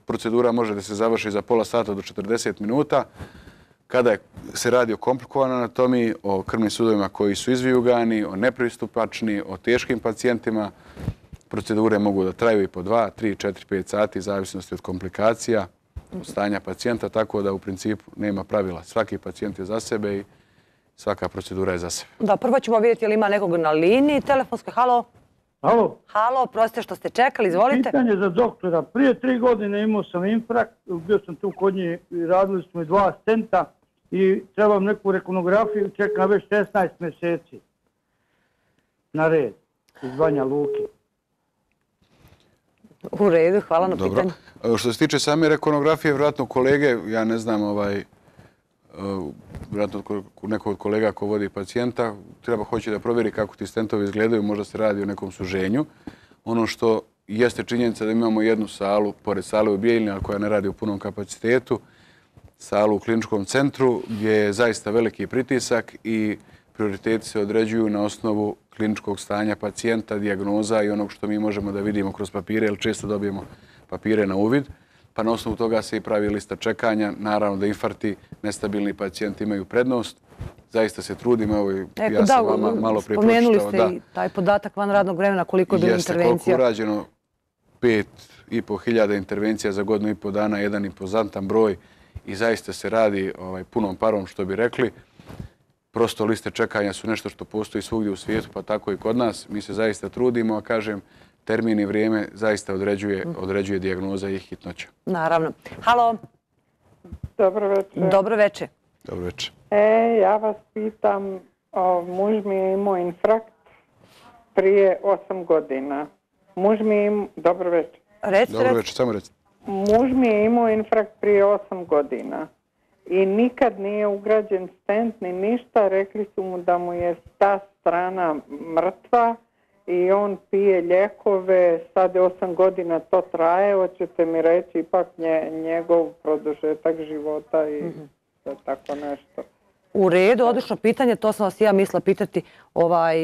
procedura može da se završi za pola sata do četrdeset minuta. Kada se radi o komplikovanoj anatomiji, o krvnim sudovima koji su izvijugani, o nepristupačni, o teškim pacijentima, procedure mogu da traju i po dva, tri, četiri, pet sati, zavisnosti od komplikacija, od stanja pacijenta, tako da u principu nema pravila. Svaki pacijent je za sebe i svaka procedura je za sebe. Da, prvo ćemo vidjeti ili ima nekog na liniji telefonskoj. Halo? Halo? Halo, prostite što ste čekali, izvolite. Pitanje za doktora. Prije tri godine imao sam infarkt, bio sam tu kod nje i radili smo i dva stenta i trebam neku rekonografiju, čekam već šesnaest mjeseci na red iz Banja Luke. U redu, hvala na Dobro. pitanju. Što se tiče same rekonografije, vjerojatno kolege, ja ne znam, ovaj, vjerojatno neko od kolega ko vodi pacijenta, treba hoće da provjeri kako ti stentovi izgledaju, možda se radi o nekom suženju. Ono što jeste činjenica da imamo jednu salu, pored sale u Bijeljini, ali koja ne radi u punom kapacitetu, salu u kliničkom centru gdje je zaista veliki pritisak i prioriteti se određuju na osnovu kliničkog stanja pacijenta, dijagnoza i onog što mi možemo da vidimo kroz papire, jer često dobijemo papire na uvid, pa na osnovu toga se i pravi lista čekanja. Naravno da infarkti, nestabilni pacijenti imaju prednost. Zaista se trudimo, evo ja sam vama malo prije pročitao. Spomenuli ste i taj podatak van radnog vremena, koliko je bilo intervencija. Jeste, koliko urađeno, pet i po hiljada intervencija za godinu i po dana, jedan impozantan broj i zaista se radi ovaj, punom parom, što bi rekli. Prosto liste čekanja su nešto što postoji svugdje u svijetu, pa tako i kod nas. Mi se zaista trudimo, a kažem, termin i vrijeme zaista određuje, određuje dijagnoza i hitnoća. Naravno. Halo. Dobro večer. Dobro večer. Dobro večer. E, ja vas pitam, o, muž mi je imao infarkt prije osam godina. Muž mi je imao... Dobro večer. Recite, Dobro večer, samo recite. Muž mi je imao infarkt prije osam godina i nikad nije ugrađen stent ni ništa. Rekli su mu da mu je ta strana mrtva i on pije lijekove. Sad je osam godina to traje. Hoćete mi reći ipak nje, njegov produžetak života i mm-hmm. tako nešto. U redu, odlično pitanje. To sam vas ja mislila pitati ovaj,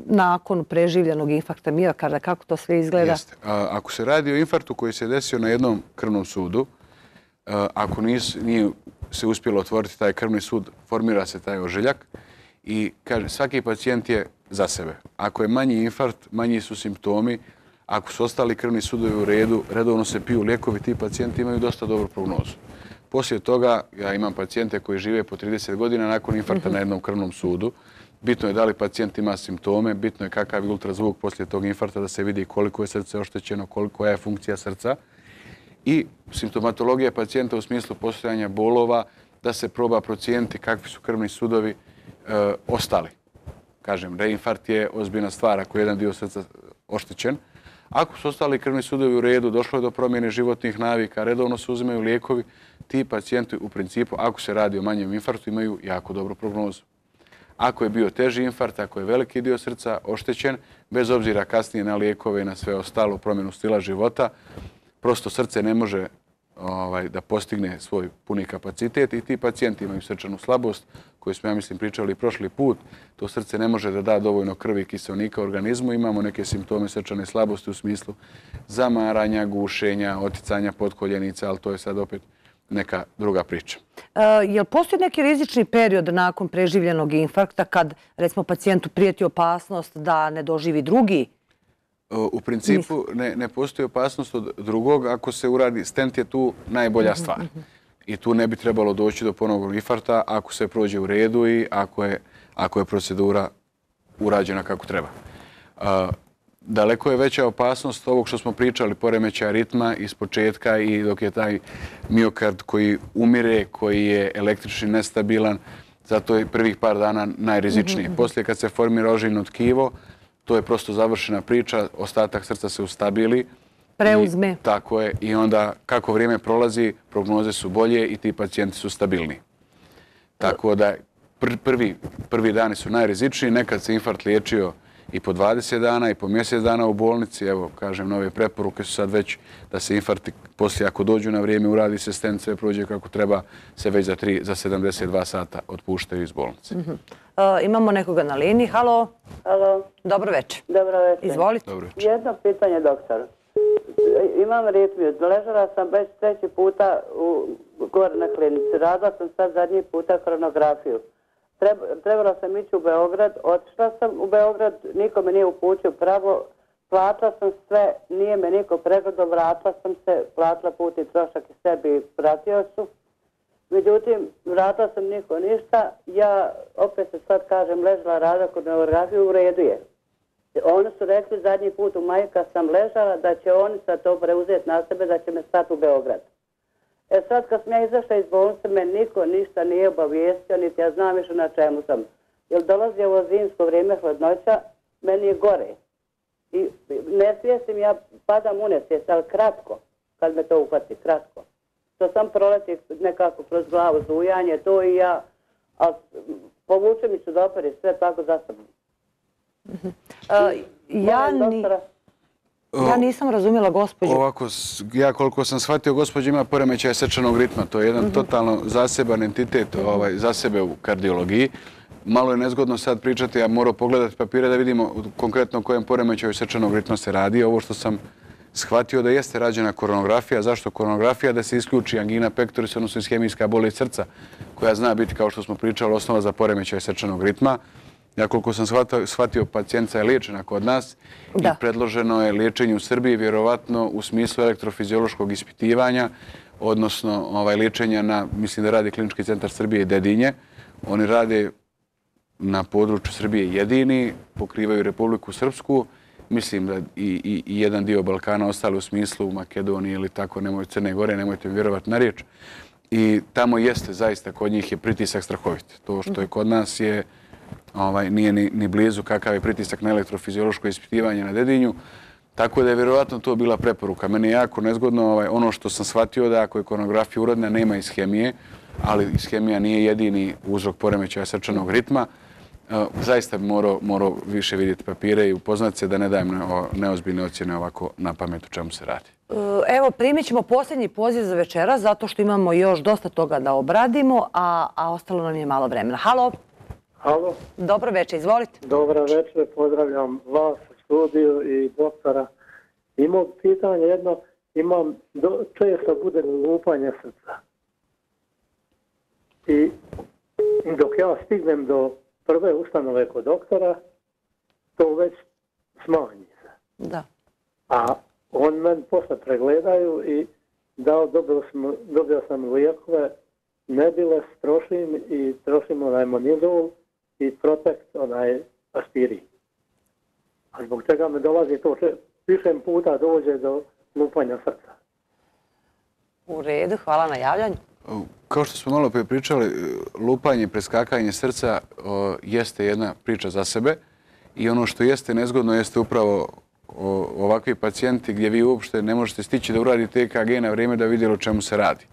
nakon preživljenog infarkta miokarda. Kako to sve izgleda? Jeste. A, ako se radi o infarktu koji se desio na jednom krvnom sudu, a, ako nis, nije se uspjelo otvoriti taj krvni sud, formira se taj ožiljak i kaže, svaki pacijent je za sebe. Ako je manji infarkt, manji su simptomi, ako su ostali krvni sudovi u redu, redovno se piju lijekovi, ti pacijenti imaju dosta dobru prognozu. Poslije toga, ja imam pacijente koji žive po trideset godina nakon infarkta na jednom krvnom sudu. Bitno je da li pacijent ima simptome, bitno je kakav je ultrazvuk poslije tog infarkta, da se vidi koliko je srce oštećeno, koliko je funkcija srca. i simptomatologija pacijenta u smislu postojanja bolova, da se proba procijeniti kakvi su krvni sudovi e, ostali. Kažem, reinfarkt je ozbiljna stvar ako je jedan dio srca oštećen. Ako su ostali krvni sudovi u redu, došlo je do promjene životnih navika, redovno se uzimaju lijekovi, ti pacijenti u principu, ako se radi o manjem infarktu, imaju jako dobru prognozu. Ako je bio teži infarkt, ako je veliki dio srca oštećen, bez obzira kasnije na lijekove i na sve ostalo, promjenu stila života, prosto srce ne može ovaj, da postigne svoj puni kapacitet i ti pacijenti imaju srčanu slabost, koju smo, ja mislim, pričali prošli put. To srce ne može da da dovoljno krvi i kiseonika organizmu. Imamo neke simptome srčane slabosti u smislu zamaranja, gušenja, oticanja potkoljenica, ali to je sad opet neka druga priča. E, je li postoji neki rizični period nakon preživljenog infarkta kad, recimo, pacijentu prijeti opasnost da ne doživi drugi? U principu ne, ne postoji opasnost od drugog ako se uradi. Stent je tu najbolja stvar. I tu ne bi trebalo doći do ponovnog infarkta ako se prođe u redu i ako je, ako je procedura urađena kako treba. A, daleko je veća opasnost ovog što smo pričali, poremećaja ritma iz početka i dok je taj miokard koji umire, koji je električni nestabilan, zato je prvih par dana najrizičnije. Poslije kad se formira ožiljno tkivo, to je prosto završena priča, ostatak srca se ustabili. Preuzme. I, tako je. I onda kako vrijeme prolazi, prognoze su bolje i ti pacijenti su stabilni. Tako da pr prvi, prvi dani su najrizičniji. Nekad se infarkt liječio i po dvadeset dana i po mjesec dana u bolnici. Evo, kažem, nove preporuke su sad već da se infarkti poslije ako dođu na vrijeme, uradi se stent, sve prođe kako treba, se već za, tri, za sedamdeset dva sata otpuštaju iz bolnice. Mm-hmm. Uh, imamo nekoga na liniji. Halo. Halo. Dobro večer. Dobro večer. Izvolite. Dobro večer. Jedno pitanje, doktor. Imam ritmiju. Ležala sam već treći puta u, gore na klinici. Radila sam sad zadnji puta koronografiju. Treba, trebala sam ići u Beograd. Otišla sam u Beograd. Niko me nije upućio pravo. Platila sam sve. Nije me niko pregledao. Vratila sam se. Platila put i trošak i sebi pratio su. Međutim, vratila sam niko ništa. Ja opet se sad kažem ležala rada kod koronografiju, u redu je. Oni su rekli zadnji put u maju kad sam ležala da će oni sad to preuzeti na sebe, da će me stati u Beograd. E sad kad sam ja izašla iz bolnice, me niko ništa nije obavijestio, niti ja znam više na čemu sam. Jer dolazi ovo zimsko vrijeme, hladnoća, meni je gore. I ne svijestim, ja padam u nesvijest, ali kratko, kad me to uhvati, kratko. To sam proleti nekako kroz glavu, zujanje, to i ja, a povuče mi sudopere, sve tako za sobom. Uh, ja, ni, ja nisam razumjela gospođu. Ovako, ja koliko sam shvatio, gospođa ima poremećaj srčanog ritma. To je jedan uh -huh. totalno zaseban entitet ovaj, za sebe u kardiologiji. Malo je nezgodno sad pričati, ja moram pogledati papire da vidimo konkretno o kojem poremećaju srčanog ritma se radi. Ovo što sam shvatio da jeste rađena koronografija. Zašto koronografija? Da se isključi angina pectoris, odnosno ishemijska bolest srca, koja zna biti, kao što smo pričali, osnova za poremećaj srčanog ritma. Ja koliko sam shvatio, shvatio pacijenta je liječena kod nas da. I predloženo je liječenje u Srbiji, vjerovatno u smislu elektrofiziološkog ispitivanja, odnosno ovaj, liječenja na, mislim da radi Klinički centar Srbije i Dedinje. Oni rade na području Srbije jedini, pokrivaju Republiku Srpsku, mislim da i, i, i jedan dio Balkana ostali u smislu Makedonije ili tako, nemoj, Crne Gore, nemojte mi vjerovati na riječ. I tamo jeste, zaista, kod njih je pritisak strahovit. To što je kod nas je Ovaj, nije ni, ni blizu kakav je pritisak na elektrofiziološko ispitivanje na Dedinju. Tako da je vjerovatno to bila preporuka. Meni je jako nezgodno ovaj, ono što sam shvatio da ako je koronografija urodna nema ishemije, ali ishemija nije jedini uzrok poremećaja srčanog ritma. E, zaista bi morao, morao više vidjeti papire i upoznati se da ne dajem neozbiljne ocjene ovako na pamet o čemu se radi. Evo, primit ćemo posljednji poziv za večera zato što imamo još dosta toga da obradimo, a, a ostalo nam je malo vremena. Halo? Halo. Dobro večer, izvolite. Dobro večer, pozdravljam vas u studiju i doktora. Imam pitanje jedno, imam, do, često bude lupanje srca. I dok ja stignem do prve ustanove kod doktora, to već smanji se. Da. A on meni posle pregledaju i dao, dobio sam, dobio sam lijekove, Nebiles trošim i trošim onaj Monidol i Protect, onaj aspirin. A zbog čega me dolazi to, če, više puta dođe do lupanja srca. U redu, hvala na javljanju. Kao što smo malo prije pričali, lupanje i preskakanje srca jeste jedna priča za sebe i ono što jeste nezgodno jeste upravo ovakvi pacijenti gdje vi uopšte ne možete stići da uradite E K G na vrijeme da vidjeli o čemu se radi.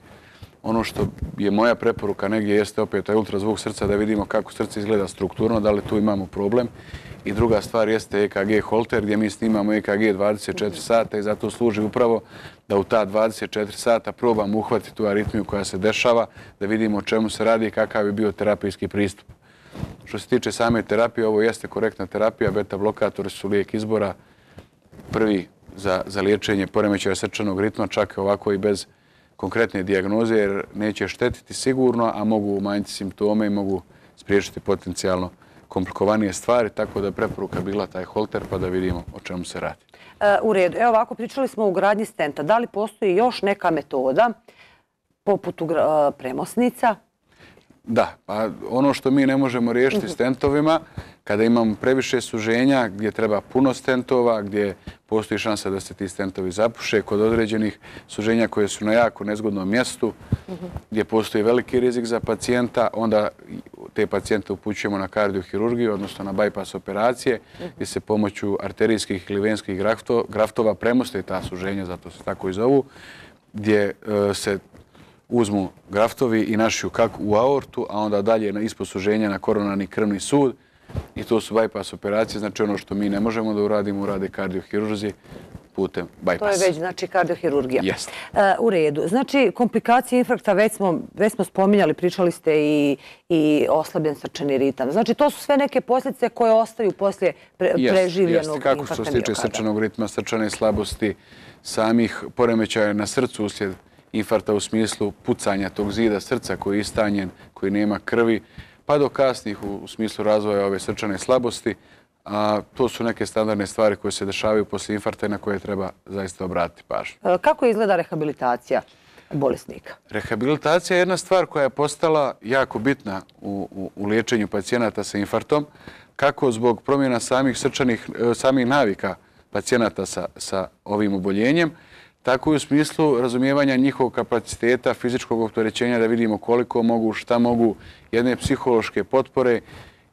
Ono što je moja preporuka negdje jeste opet taj ultrazvuk srca da vidimo kako srce izgleda strukturno, da li tu imamo problem. I druga stvar jeste E K G holter gdje mi snimamo E K G dvadeset četiri sata i zato služi upravo da u ta dvadeset četiri sata probamo uhvatiti tu aritmiju koja se dešava, da vidimo o čemu se radi i kakav je bio terapijski pristup. Što se tiče same terapije, ovo jeste korektna terapija, beta blokatori su lijek izbora, prvi za, za liječenje poremećaja srčanog ritma, čak ovako i bez konkretne dijagnoze, jer neće štetiti sigurno, a mogu umanjiti simptome i mogu spriječiti potencijalno komplikovanije stvari, tako da je preporuka bila taj holter pa da vidimo o čemu se radi. E, u redu. Evo ovako, pričali smo o ugradnji stenta. Da li postoji još neka metoda poput ugra, premosnica? Da, pa ono što mi ne možemo riješiti uh-huh. stentovima, kada imamo previše suženja gdje treba puno stentova, gdje postoji šansa da se ti stentovi zapuše, kod određenih suženja koje su na jako nezgodnom mjestu, uh-huh. gdje postoji veliki rizik za pacijenta, onda te pacijente upućujemo na kardiohirurgiju, odnosno na bypass operacije, uh-huh. gdje se pomoću arterijskih ili venskih graftova premoste ta suženja, zato se tako i zovu, gdje uh, se uzmu graftovi i našiju kako u aortu, a onda dalje na ispod suženja na koronarni krvni sud. I to su bypass operacije, znači ono što mi ne možemo da uradimo, urade kardiohirurzi putem bypassa. To je već, znači, kardiohirurgija. Jeste. Uh, u redu. Znači, komplikacije infarkta, već smo, već smo spominjali, pričali ste i, i oslabljen srčani ritam. Znači, to su sve neke posljedice koje ostaju poslije pre, jest, preživljenog jest. Kako infarkta što se tiče miokarda. Srčanog ritma, srčane slabosti, samih poremećaja na srcu uslijed infarkta u smislu pucanja tog zida srca koji je istanjen, koji nema krvi, pa do kasnih u, u smislu razvoja ove srčane slabosti. A to su neke standardne stvari koje se dešavaju poslije infarkta na koje treba zaista obratiti pažnju. Kako izgleda rehabilitacija bolesnika? Rehabilitacija je jedna stvar koja je postala jako bitna u, u, u liječenju pacijenata sa infarktom, kako zbog promjena samih srčanih, samih navika pacijenata sa, sa ovim oboljenjem, tako i u smislu razumijevanja njihovog kapaciteta, fizičkog opterećenja, da vidimo koliko mogu, šta mogu, jedne psihološke potpore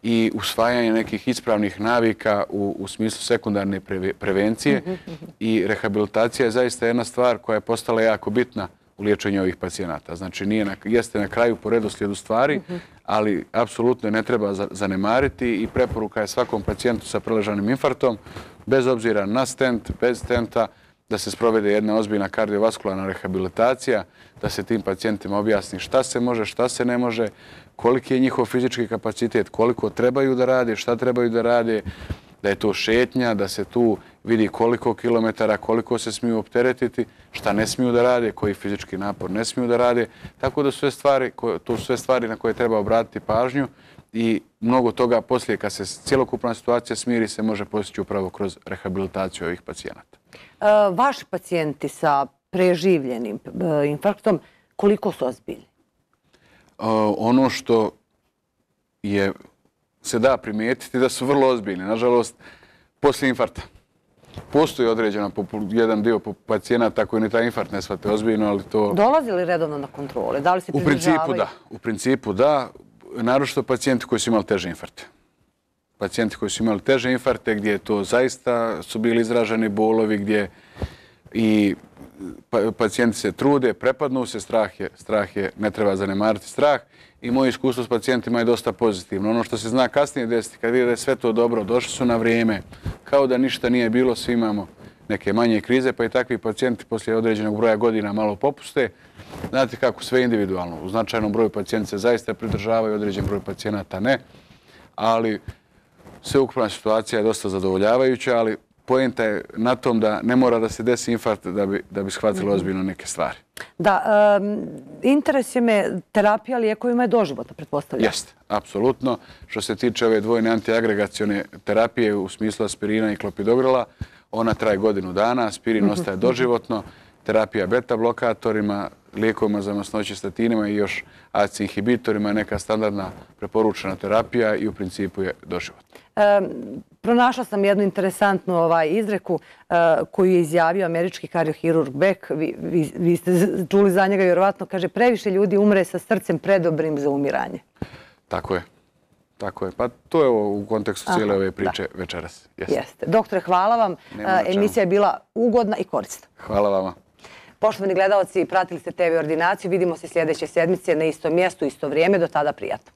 i usvajanje nekih ispravnih navika u, u smislu sekundarne pre, prevencije. I rehabilitacija je zaista jedna stvar koja je postala jako bitna u liječenju ovih pacijenata. Znači, nije na, jeste na kraju po redoslijedu stvari, ali apsolutno ne treba zanemariti i preporuka je svakom pacijentu sa preležanim infarktom, bez obzira na stent, bez stenta, da se sprovede jedna ozbiljna kardiovaskularna rehabilitacija, da se tim pacijentima objasni šta se može, šta se ne može, koliki je njihov fizički kapacitet, koliko trebaju da rade, šta trebaju da rade, da je to šetnja, da se tu vidi koliko kilometara, koliko se smiju opteretiti, šta ne smiju da rade, koji fizički napor ne smiju da rade. Tako da su sve stvari, to su sve stvari na koje treba obratiti pažnju i mnogo toga poslije kad se cjelokupna situacija smiri se može postići upravo kroz rehabilitaciju ovih pacijenata. Uh, vaši pacijenti sa preživljenim uh, infarktom, koliko su ozbiljni? Uh, ono što je, se da primijetiti da su vrlo ozbiljni. Nažalost, poslije infarkta. Postoji određena jedan dio pacijenata koji ni taj infarkt ne shvate ozbiljno, ali to... Dolazi li redovno na kontrole? Da li se u principu da. U principu da. Naročito pacijenti koji su imali teže infarkte. Pacijenti koji su imali teže infarkte gdje to zaista su bili izraženi bolovi, gdje i pacijenti se trude, prepadnu se, strah je, strah je, ne treba zanemariti strah i moje iskustvo s pacijentima je dosta pozitivno. Ono što se zna kasnije desiti, kad vide da je sve to dobro, došli su na vrijeme, kao da ništa nije bilo, svi imamo neke manje krize, pa i takvi pacijenti poslije određenog broja godina malo popuste. Znate kako, sve individualno. U značajnom broju pacijenti se zaista pridržavaju, određen broj pacijenata ne, ali sveukupna situacija je dosta zadovoljavajuća, ali poenta je na tom da ne mora da se desi infarkt da bi, da bi shvatilo ozbiljno neke stvari. Da, um, interesuje me, terapija lijekovima je doživotna, pretpostavljam. Jeste, apsolutno. Što se tiče ove dvojne antiagregacione terapije u smislu aspirina i klopidogrela, ona traje godinu dana, aspirin ostaje doživotno, terapija beta blokatorima, lijekovima za masnoće, statinima i još A C E inhibitorima je neka standardna preporučena terapija i u principu je doživotna. Um, pronašla sam jednu interesantnu ovaj, izreku uh, koju je izjavio američki kardiohirurg Beck. Vi, vi, vi ste čuli za njega, vjerovatno, kaže, previše ljudi umre sa srcem predobrim za umiranje. Tako je. Tako je. Pa to je ovo u kontekstu cijele ove priče da. večeras. Jeste. Jeste. Doktore, hvala vam. Emisija je bila ugodna i korisna. Hvala vama. Poštovani gledalci, pratili ste te ve Ordinaciju. Vidimo se sljedeće sedmice na istom mjestu, isto vrijeme. Do tada prijatno.